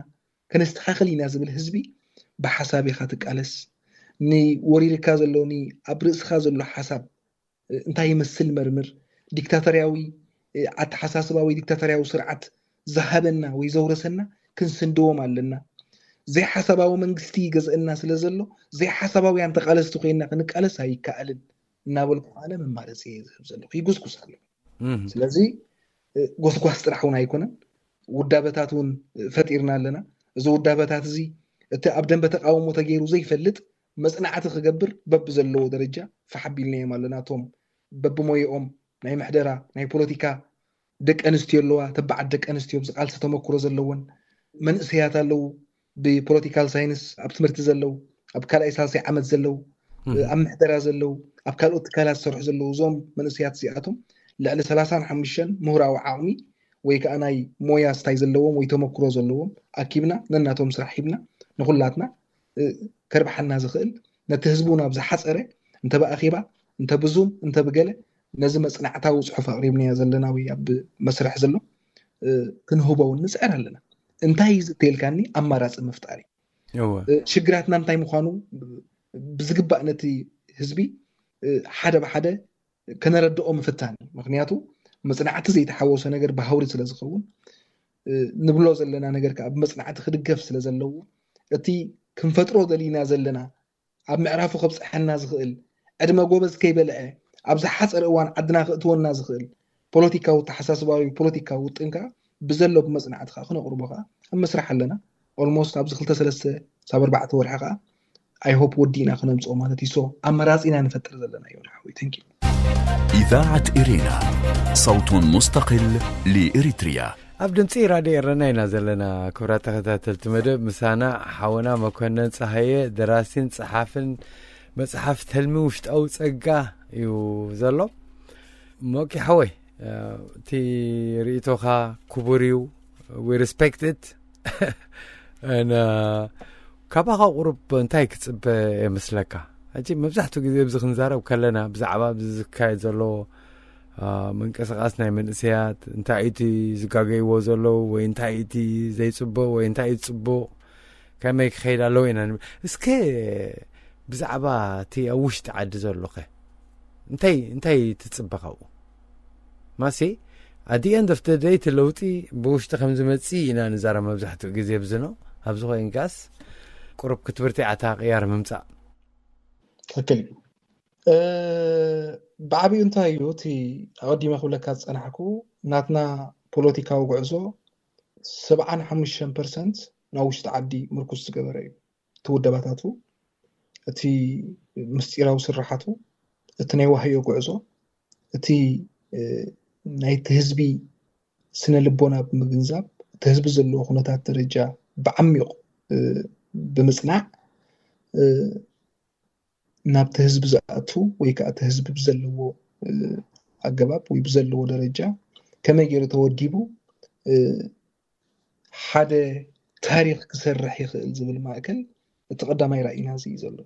ከነስተኻኽል ኢና ዝብል ህዝቢ ብሓሳብ ኢኻ ትቃለስ። ንወሪርካ ዘሎ ኣብ ርእስኻ ዘሎ ሓሳብ እንታይ ይመስል መርምር። ዲክታተርያዊ ኣተሓሳስባ ወይ ዲክታተርያዊ ስርዓት ዝሃበና ወይ ዘውረሰና ክንስንድዎም ኣለና። ዘይሓሳባዊ መንግስቲ ይገዝአና ስለ ዘሎ ዘይሓሳባውያን ተቃለስቲ ኮይና ክንቃለስ ኣይከኣልን እናበልኩ ኣነ መማረፂ እየ ዝህብ ዘለኹ። ይጉስጉስ ኣሎ። ስለዚ ጎስጓስ ጥራሕ እውን ኣይኮነን፣ ውዳበታት እውን ፈጢርና ኣለና። እዚ ውዳበታት እዚ እቲ ኣብ ደንበ ተቃውሞ ተገይሩ ዘይፈልጥ መፅናዕቲ ክገብር በብዘለዎ ደረጃ ፋሕ ኣቢልናዮም ኣለና። እቶም በብሞየኦም ናይ ምሕደራ ናይ ፖለቲካ ደቂ ኣንስትዮ ኣለዋ፣ ተባዓት ደቂ ኣንስትዮ ኣብዚ ቃልሲ ተመክሮ ዘለወን መንእሰያት ኣለዉ፣ ብፖለቲካል ሳይንስ ኣብ ትምህርቲ ዘለዉ፣ ኣብ ካልኣይ ሳልሳይ ዓመት ዘለዉ፣ ኣብ ምሕደራ ዘለዉ፣ ኣብ ካልኦት ትካላት ዝሰርሑ ዘለዉ፣ እዞም መንእሰያት እዚኣቶም ልዕሊ ሰላሳን ሓሙሽተን ምሁራዊ ዓቕሚ ወይ ከዓ ናይ ሞያ ስታይ ዘለዎም ወይ ተመክሮ ዘለዎም ኣኪብና ነናቶም ስራሕ ሂብና ንኩላትና ከርብሓና ዝኽእል ነቲ ህዝቡ ናብ ዝሓፀረ እንተ ብኣኼባ እንተ ብዙም እንተ ብገለ ነዚ መፅናዕታዊ ፅሑፍ ኣቕሪብናዮ ዘለና ወይ ኣብ መስርሕ ዘሎ ክንህቦ እውን ንፅዕር ኣለና። እንታይ እዩ ዝተልካኒ ኣማራፂ ምፍጣር እዩ። ሽግራትና እንታይ ምዃኑ ብዝግባእ ነቲ ህዝቢ ሓደ ብሓደ ከነረድኦ ምፍታን እዩ። ምክንያቱ መፅናዕቲ ዘይተሓወሶ ነገር ብሃውሪ ስለ ዝኸውን ንብሎ ዘለና ነገር ከዓ ብመፅናዕቲ ክድገፍ ስለ ዘለዎ እቲ ክንፈጥሮ ደሊና ዘለና ኣብ ምዕራፉ ከብፅሐና ዝኽእል ዕድመ ጎበዝ ከይበልዐ ኣብ ዝሓፀረ እዋን ዓድና ክእትወና ዝኽእል ፖለቲካዊ ተሓሳስባዊ ፖለቲካዊ ውጥን ከዓ ብዘሎ ብመፅናዕቲ ከዓ ክነቕርቦ ከዓ ኣብ መስራሕ ኣለና። ኦልሞስት ኣብዚ ክልተ ሰለስተ ሳብ ኣርባዕተ ወርሒ ከዓ ኣይሆፕ ወዲእና ክነምፅኦ ማለት እዩ። ሶ ኣመራፂና ንፈጥር ዘለና እዩ ሓወይ። Thank you. إذاعة إرينا، صوت مستقل لإريتريا. ኣብ ድምፂ ራድዮ ኤረና ኢና ዘለና። ክብራት ተኸታተልቲ መደብ ምሳና ሓወና መኮነን ፀሃየ ደራሲን ፀሓፍን መፅሓፍ ተልሚ ውሽጣዊ ፀጋ እዩ ዘሎ። ሞኪ ሓወይ እቲ ርእቶኻ ክቡር እዩ። We respect it. ካባኻ ቁሩብ እንታይ ክፅበ የመስለካ? ሕጂ መብዛሕትኡ ግዜ ኣብዚ ክንዛረብ ከለና ብዛዕባ ኣብዚ ዝካየድ ዘሎ ምንቅስቃስ ናይ መንእሰያት እንታይ እቲ ዝጋገይዎ ዘለዉ ወይ እንታይ እቲ ዘይፅቡቅ ወይ እንታይ እቲ ፅቡቅ ከመይ ክኸይድ ኣለዎ ኢና ንብል። እስከ ብዛዕባ እቲ ኣብ ውሽጢ ዓዲ ዘሎኸ እንታይ እንታይ ትፅበ ካብኡ? ማሲ ኣዲ ኤንድ ኦፍ ደይ እቲ ለውጢ ብውሽጢ ከም ዝመፅእ ኢና ንዛረብ መብዛሕትኡ ግዜ ብዝኖ ኣብዚ ኮይንካስ ቁሩብ ክትብርቲ ዓታ ቅያር ምምፃእ ትክክል እዩ። ብዓብዩ እንታይ እዩ እቲ ኣቐዲመ ክብለካ ዝፀናሕኩ ናትና ፖለቲካዊ ጉዕዞ ሰብዓን ሓሙሽተን ፐርሰንት ናብ ውሽጢ ዓዲ ምርኩስ ዝገበረ እዩ። እቲ ውደባታቱ፣ እቲ ምስጢራዊ ስርሓቱ፣ እቲ ናይ ዋህዮ ጉዕዞ፣ እቲ ናይቲ ህዝቢ ስነ ልቦና ብምግንዛብ እቲ ህዝቢ ዘለዎ ኩነታት ደረጃ ብዓሚቕ ብምፅናዕ ናብቲ ህዝቢ ዝኣቱ ወይ ከዓ እቲ ህዝቢ ብዘለዎ ኣገባብ ወይ ብዘለዎ ደረጃ ከመይ ገይሩ ተወዲቡ ሓደ ታሪክ ክሰርሕ ይኽእል ዝብል ማእከል እቲ ቀዳማይ ራእይና እዚ እዩ ዘሎ።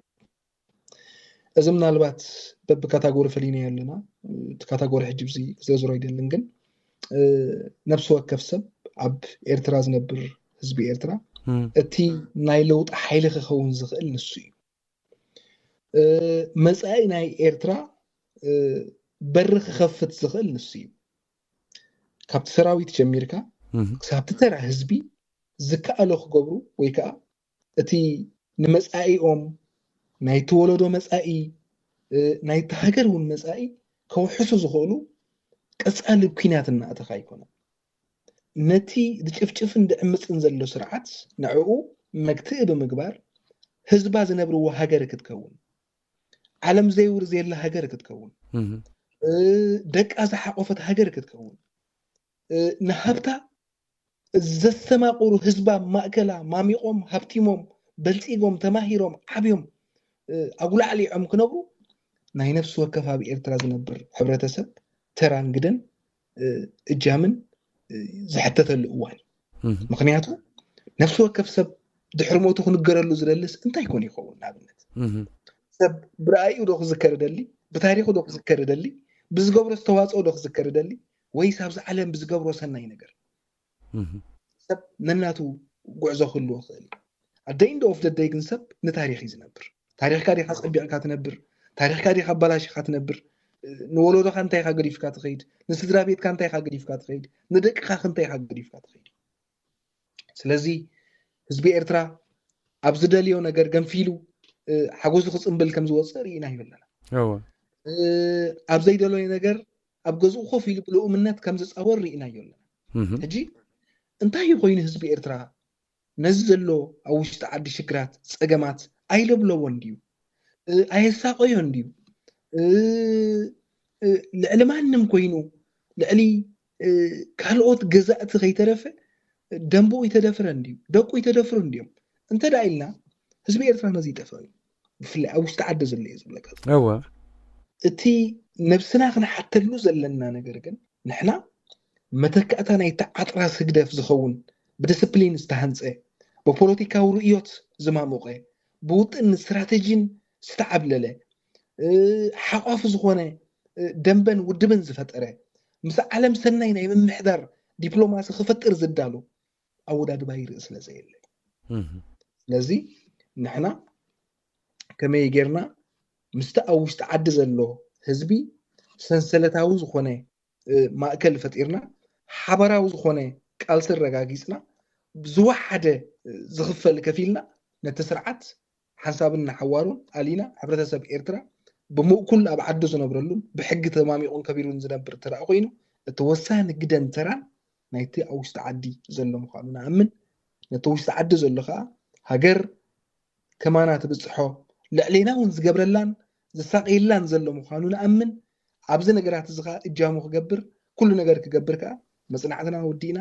እዚ ምናልባት በብካታጎሪ ፈሊናዮ ኣለና። እቲ ካታጎሪ ሕጂ ብዚ ክዝረዝሮ ኣይደልን፣ ግን ነፍሲ ወከፍ ሰብ ኣብ ኤርትራ ዝነብር ህዝቢ ኤርትራ እቲ ናይ ለውጢ ሓይሊ ክኸውን ዝኽእል ንሱ እዩ። መፃኢ ናይ ኤርትራ በሪ ክኸፍት ዝኽእል ንሱ እዩ። ካብቲ ሰራዊት ጀሚርካ ክሳብቲ ተራ ህዝቢ ዝከኣሎ ክገብሩ ወይ ከዓ እቲ ንመጻኢኦም፣ ናይቲ ወለዶ መጻኢ፣ ናይቲ ሃገር እውን መጻኢ ከውሕሱ ዝኽእሉ ቀጻሊ ኩናት እናእተኻ ኣይኮነን። ነቲ ዝጭፍጭፍን ዝዕምፅን ዘሎ ስርዓት ንዕኡ መግትኢ ብምግባር ህዝባ ዝነብርዎ ሃገር ክትከውን፣ ዓለም ዘይውር ዘየላ ሃገር ክትከውን፣ ደቃ ዝሓቆፈት ሃገር ክትከውን፣ ንሃብታ ዘስተማቕሩ ህዝባ ማእከላ ማሚቖም ሃብቲሞም በልፂጎም ተማሂሮም ዓብዮም ኣጉላዕሊዖም ክነብሩ ናይ ነፍሲ ወከፍ ኣብ ኤርትራ ዝነብር ሕብረተሰብ ተራን ግደን እጃምን ዝሕተተሉ እዋን እዩ። ምክንያቱ ነፍሲ ወከፍ ሰብ ድሕሪ ሞቱ ክንገረሉ ዝደልስ እንታይ ኮን ይኸውን? ንኣብነት ሰብ ብረኣዩ ዶ ክዝከር ደሊ፣ ብታሪኹ ዶ ክዝከር ደሊ፣ ብዝገብሮ ዝተዋፅኦ ዶ ክዝከር ደሊ፣ ወይስ ኣብዚ ዓለም ብዝገብሮ ሰናይ ነገር? ሰብ ነናቱ ጉዕዞ ክህልዎ ክእል እዩ። ኣደይ እንደ ኦፍ ደደይ ግን ሰብ ንታሪክ እዩ ዝነብር። ታሪክካ ዲካ ፀቢቕካ ትነብር? ታሪክካ ዲካ ኣባላሽካ ትነብር? ንወለዶካ እንታይ ኢካ ገዲፍካ ትኸይድ? ንስድራ ቤትካ እንታይ ኢካ ገዲፍካ ትኸይድ? ንደቅካ እንታይ ኢካ ገዲፍካ ትኸይድ? ስለዚ ህዝቢ ኤርትራ ኣብ ዝደልዮ ነገር ገንፊሉ ሓጎሱ ክፅምብል ከም ዝወፅእ ርኢና ይብለና። ኣብ ዘይደለዮ ነገር ኣብ ገዝኡ ኮፍ ኢሉ ብልኡምነት ከም ዝፃወር ርኢናዮ ኣለና። ሕጂ እንታይ እዩ ኮይኑ ህዝቢ ኤርትራ ነዚ ዘሎ ኣብ ውሽጢ ዓዲ ሽግራት፣ ፀገማት ኣይለብለቦን ድዩ? ኣየሳቀዮን ድዩ? ልዕሊ ማንም ኮይኑ ልዕሊ ካልኦት ገዛእቲ ከይተረፈ ደንብኡ ይተደፍረን ድዩ? ደቁ ይተደፍሩን ድዮም? እንተ ደኣ ኢልና ህዝቢ ኤርትራ ነዚ ይጠፍኦ እዩ። ብፍላይ ኣብ ውሽጢ ዓዲ ዘሎ እየ ዝብለካ። እወ። እቲ ነብስና ክንሓተሉ ዘለና ነገር ግን ንሕና መተካእታ ናይቲ ዓጥራስ ህግደፍ ዝኸውን ብዲስፕሊን ዝተሃንጸ ብፖለቲካዊ ርእዮት ዝማሞቐ ብውጥን ስትራተጂን ዝተዓብለለ ሓቋፊ ዝኾነ ደንበን ውድብን ዝፈጠረ ምስ ዓለም ሰናይ ናይ ምምሕዳር ዲፕሎማሲ ክፈጥር ዝዳሎ ኣወዳድባ ይርኢ ስለ ዘየለ ስለዚ ንሕና ከመይ ጌርና ምስቲ ኣብ ውሽጢ ዓዲ ዘሎ ህዝቢ ሰንሰለታዊ ዝኾነ ማእከል ፈጢርና ሓበራዊ ዝኾነ ቃልሲ ኣረጋጊፅና ዝወሓደ ዝኽፈል ከፊልና ነቲ ስርዓት ሓንሳብን ንሓዋሩን ኣሊና ሕብረተሰብ ኤርትራ ብምእኩል ኣብ ዓዱ ዝነብረሉን ብሕጊ ተማሚቑን ከቢሩን ዝነብር እንተ ኮይኑ እቲ ወሳኒ ግደን ተራን ናይቲ ኣብ ውሽጢ ዓዲ ዘሎ ምዃኑ ንኣምን። ነቲ ውሽጢ ዓዲ ዘሎ ከዓ ሃገር ከማና ትብፅሖ ልዕሌና እውን ዝገብረላን ዝሳቀየላን ዘሎ ምዃኑ ንኣምን። ኣብዚ ነገራት እዚ ከዓ እጃሙ ክገብር ኩሉ ነገር ክገብር ከዓ መፅናዕትና ወዲእና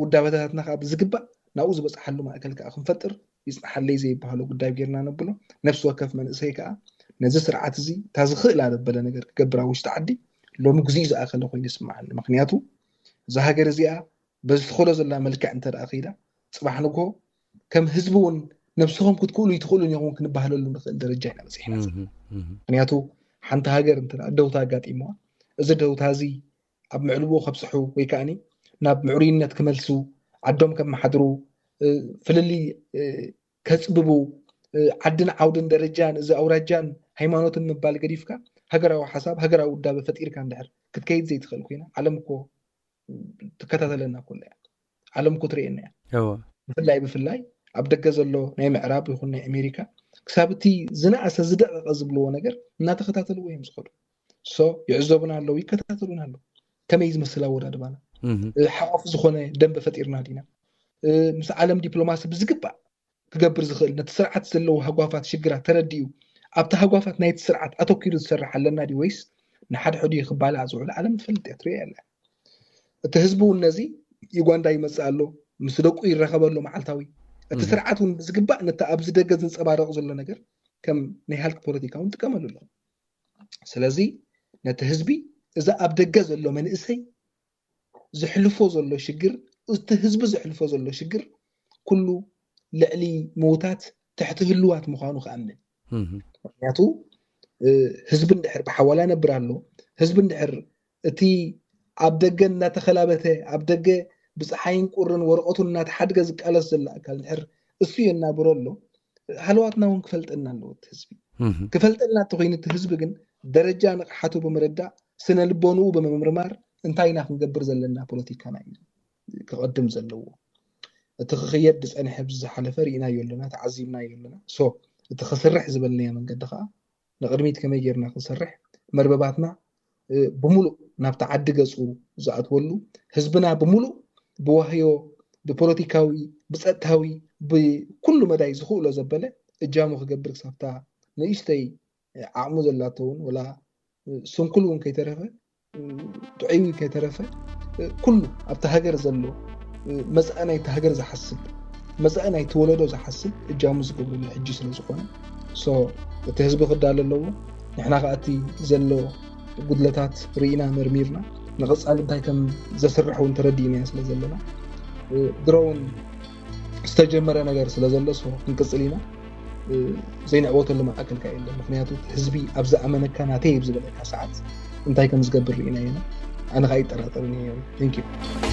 ውዳበታትና ከዓ ብዝግባእ ናብኡ ዝበፅሓሉ ማእከል ከዓ ክንፈጥር ይፅናሓለይ ዘይበሃሎ ጉዳይ ጌርና ነብሎ። ነፍሲ ወከፍ መንእሰይ ከዓ ነዚ ስርዓት እዚ እታ ዝኽእል ኣበለ ነገር ክገብር ኣብ ውሽጢ ዓዲ ሎሚ ግዜኡ ዝኣኸለ ኮይኑ ይስምዓኒ። ምክንያቱ እዛ ሃገር እዚኣ በዚ ትኸሎ ዘላ መልክዕ እንተ ደኣ ከይዳ ፅባሕ ንግሆ ከም ህዝቢ እውን ነብስኹም ክትክእሉ ይትኽእሉን ኢኹም ክንባህለሉ ንኽእል ደረጃ ኢና በፂሕና ዘለና። ምክንያቱ ሓንቲ ሃገር እንተ ደኣ ደውታ ኣጋጢምዋ እዚ ደውታ እዚ ኣብ ምዕልቦ ከብፅሑ ወይ ከዓ ናብ ምዕሩይነት ክመልሱ ዓዶም ከመሓድሩ ፍልልይ ከፅብቡ ዓድን ዓውድን ደረጃን እዚ ኣውራጃን ሃይማኖትን ምባል ገዲፍካ ሃገራዊ ሓሳብ ሃገራዊ ውዳበ ፈጢርካ እንድሕር ክትከይድ ዘይትኽእል ኮይና ዓለም እኮ ትከታተለና ኩላ እያ። ዓለም እኮ ትርእየና እያ። ብፍላይ ብፍላይ ኣብ ደገ ዘሎ ናይ ምዕራብ ይኹን ናይ ኣሜሪካ ክሳብ እቲ ዝነኣሰ ዝደቀቀ ዝብልዎ ነገር እናተኸታተልዎ እዮም ዝኸዱ። ሶ ይዕዘቡና ኣለዉ፣ ይከታተሉና ኣለዉ። ከመይ ዝመስል ኣወዳድባና ሓቆፍ ዝኾነ ደንበ ፈጢርና ዲና ምስ ዓለም ዲፕሎማሲ ብዝግባእ ክገብር ዝኽእል ነቲ ስርዓት ዘለዎ ሃጓፋት ሽግራት ተረዲኡ ኣብቲ ሃጓፋት ናይቲ ስርዓት ኣተኪሩ ዝሰርሕ ኣለና ድዩ ወይስ ንሓድሕዱ ክባላዕ ዝውዕል ዓለም ትፈልጥ እያ፣ ትርእያ ኣላ። እቲ ህዝቢ እውን ነዚ ዩጋንዳ ይመፅእ ኣሎ፣ ምስ ደቁ ይራኸበ ኣሎ መዓልታዊ። እቲ ስርዓት እውን ብዝግባእ ነቲ ኣብዚ ደገ ዝንፀባረቕ ዘሎ ነገር ከም ናይ ሃልኪ ፖለቲካ እውን ጥቀመሉ ኣሎ። ስለዚ ነቲ ህዝቢ እዚ ኣብ ደገ ዘሎ መንእሰይ ዘሕልፎ ዘሎ ሽግር፣ እቲ ህዝቢ ዘሕልፎ ዘሎ ሽግር ኩሉ ልዕሊ ምውታት ትሕቲ ህልዋት ምዃኑ ክኣምን። ምክንያቱ ህዝቢ እንድሕር ብሓዋላ ነብር ኣሎ፣ ህዝቢ እንድሕር እቲ ኣብ ደገ እናተኸላበተ ኣብ ደገ ብፀሓይን ቁርን ወረቐቱን እናተሓድገ ዝቃለስ ዘሎ ኣካል እንድሕር እሱ የናብሮ ኣሎ ሃለዋትና እውን ክፈልጠና ኣለዎ እቲ ህዝቢ። ክፈልጠና እንተኮይኑ እቲ ህዝቢ ግን ደረጃ ንቕሓቱ ብምርዳእ ስነ ልቦንኡ ብምምርማር እንታይ ኢና ክንገብር ዘለና ፖለቲካና እዩ ክቐድም ዘለዎ። እቲ ክኽየድ ዝፀንሐ ብዝሓለፈ ርኢናዮ ኣለና፣ ተዓዚብናዮ ኣለና። So እቲ ክስርሕ ዝበልናዮ መንገዲ ከዓ ንቕድሚት ከመይ ጌርና ክንሰርሕ፣ መርበባትና ብሙሉእ ናብቲ ዓዲ ገፁ ዝኣትወሉ፣ ህዝብና ብሙሉእ ብዋህዮ፣ ብፖለቲካዊ፣ ብፀጥታዊ፣ ብኩሉ መዳይ ዝኽእሎ ዘበለ እጃሙ ክገብር ክሳብታ ንእሽተይ ዓቕሙ ዘላቶ እውን ወላ ስንኩል እውን ከይተረፈ፣ ጥዑይ ከይተረፈ፣ ኩሉ ኣብቲ ሃገር ዘሎ፣ መፃኢ ናይቲ ሃገር ዝሓስብ፣ መፃኢ ናይቲ ወለዶ ዝሓስብ እጃሙ ዝገብረሉ ሕጂ ስለ ዝኾነ፣ so እቲ ህዝቢ ክዳለ ኣለዎ። ንሕና ከዓ እቲ ዘሎ ጉድለታት ርኢና መርሚርና ንቐፃሊ እንታይ ከም ዘስርሕ እውን ተረዲእናዮ ስለ ዘለና፣ ድሮ እውን ዝተጀመረ ነገር ስለ ዘሎ፣ so ክንቅፅል ኢና። ዘይንዕወተሉ መኣክል ከ የለን። ምክንያቱ ህዝቢ ኣብ ዝኣመነካ ናተይ ኣብ ዝበለካ ሰዓት እንታይ ከም ዝገብር ርኢና ኢና። ኣነ ከዓ ይጠራጠርን እየ። Thank you።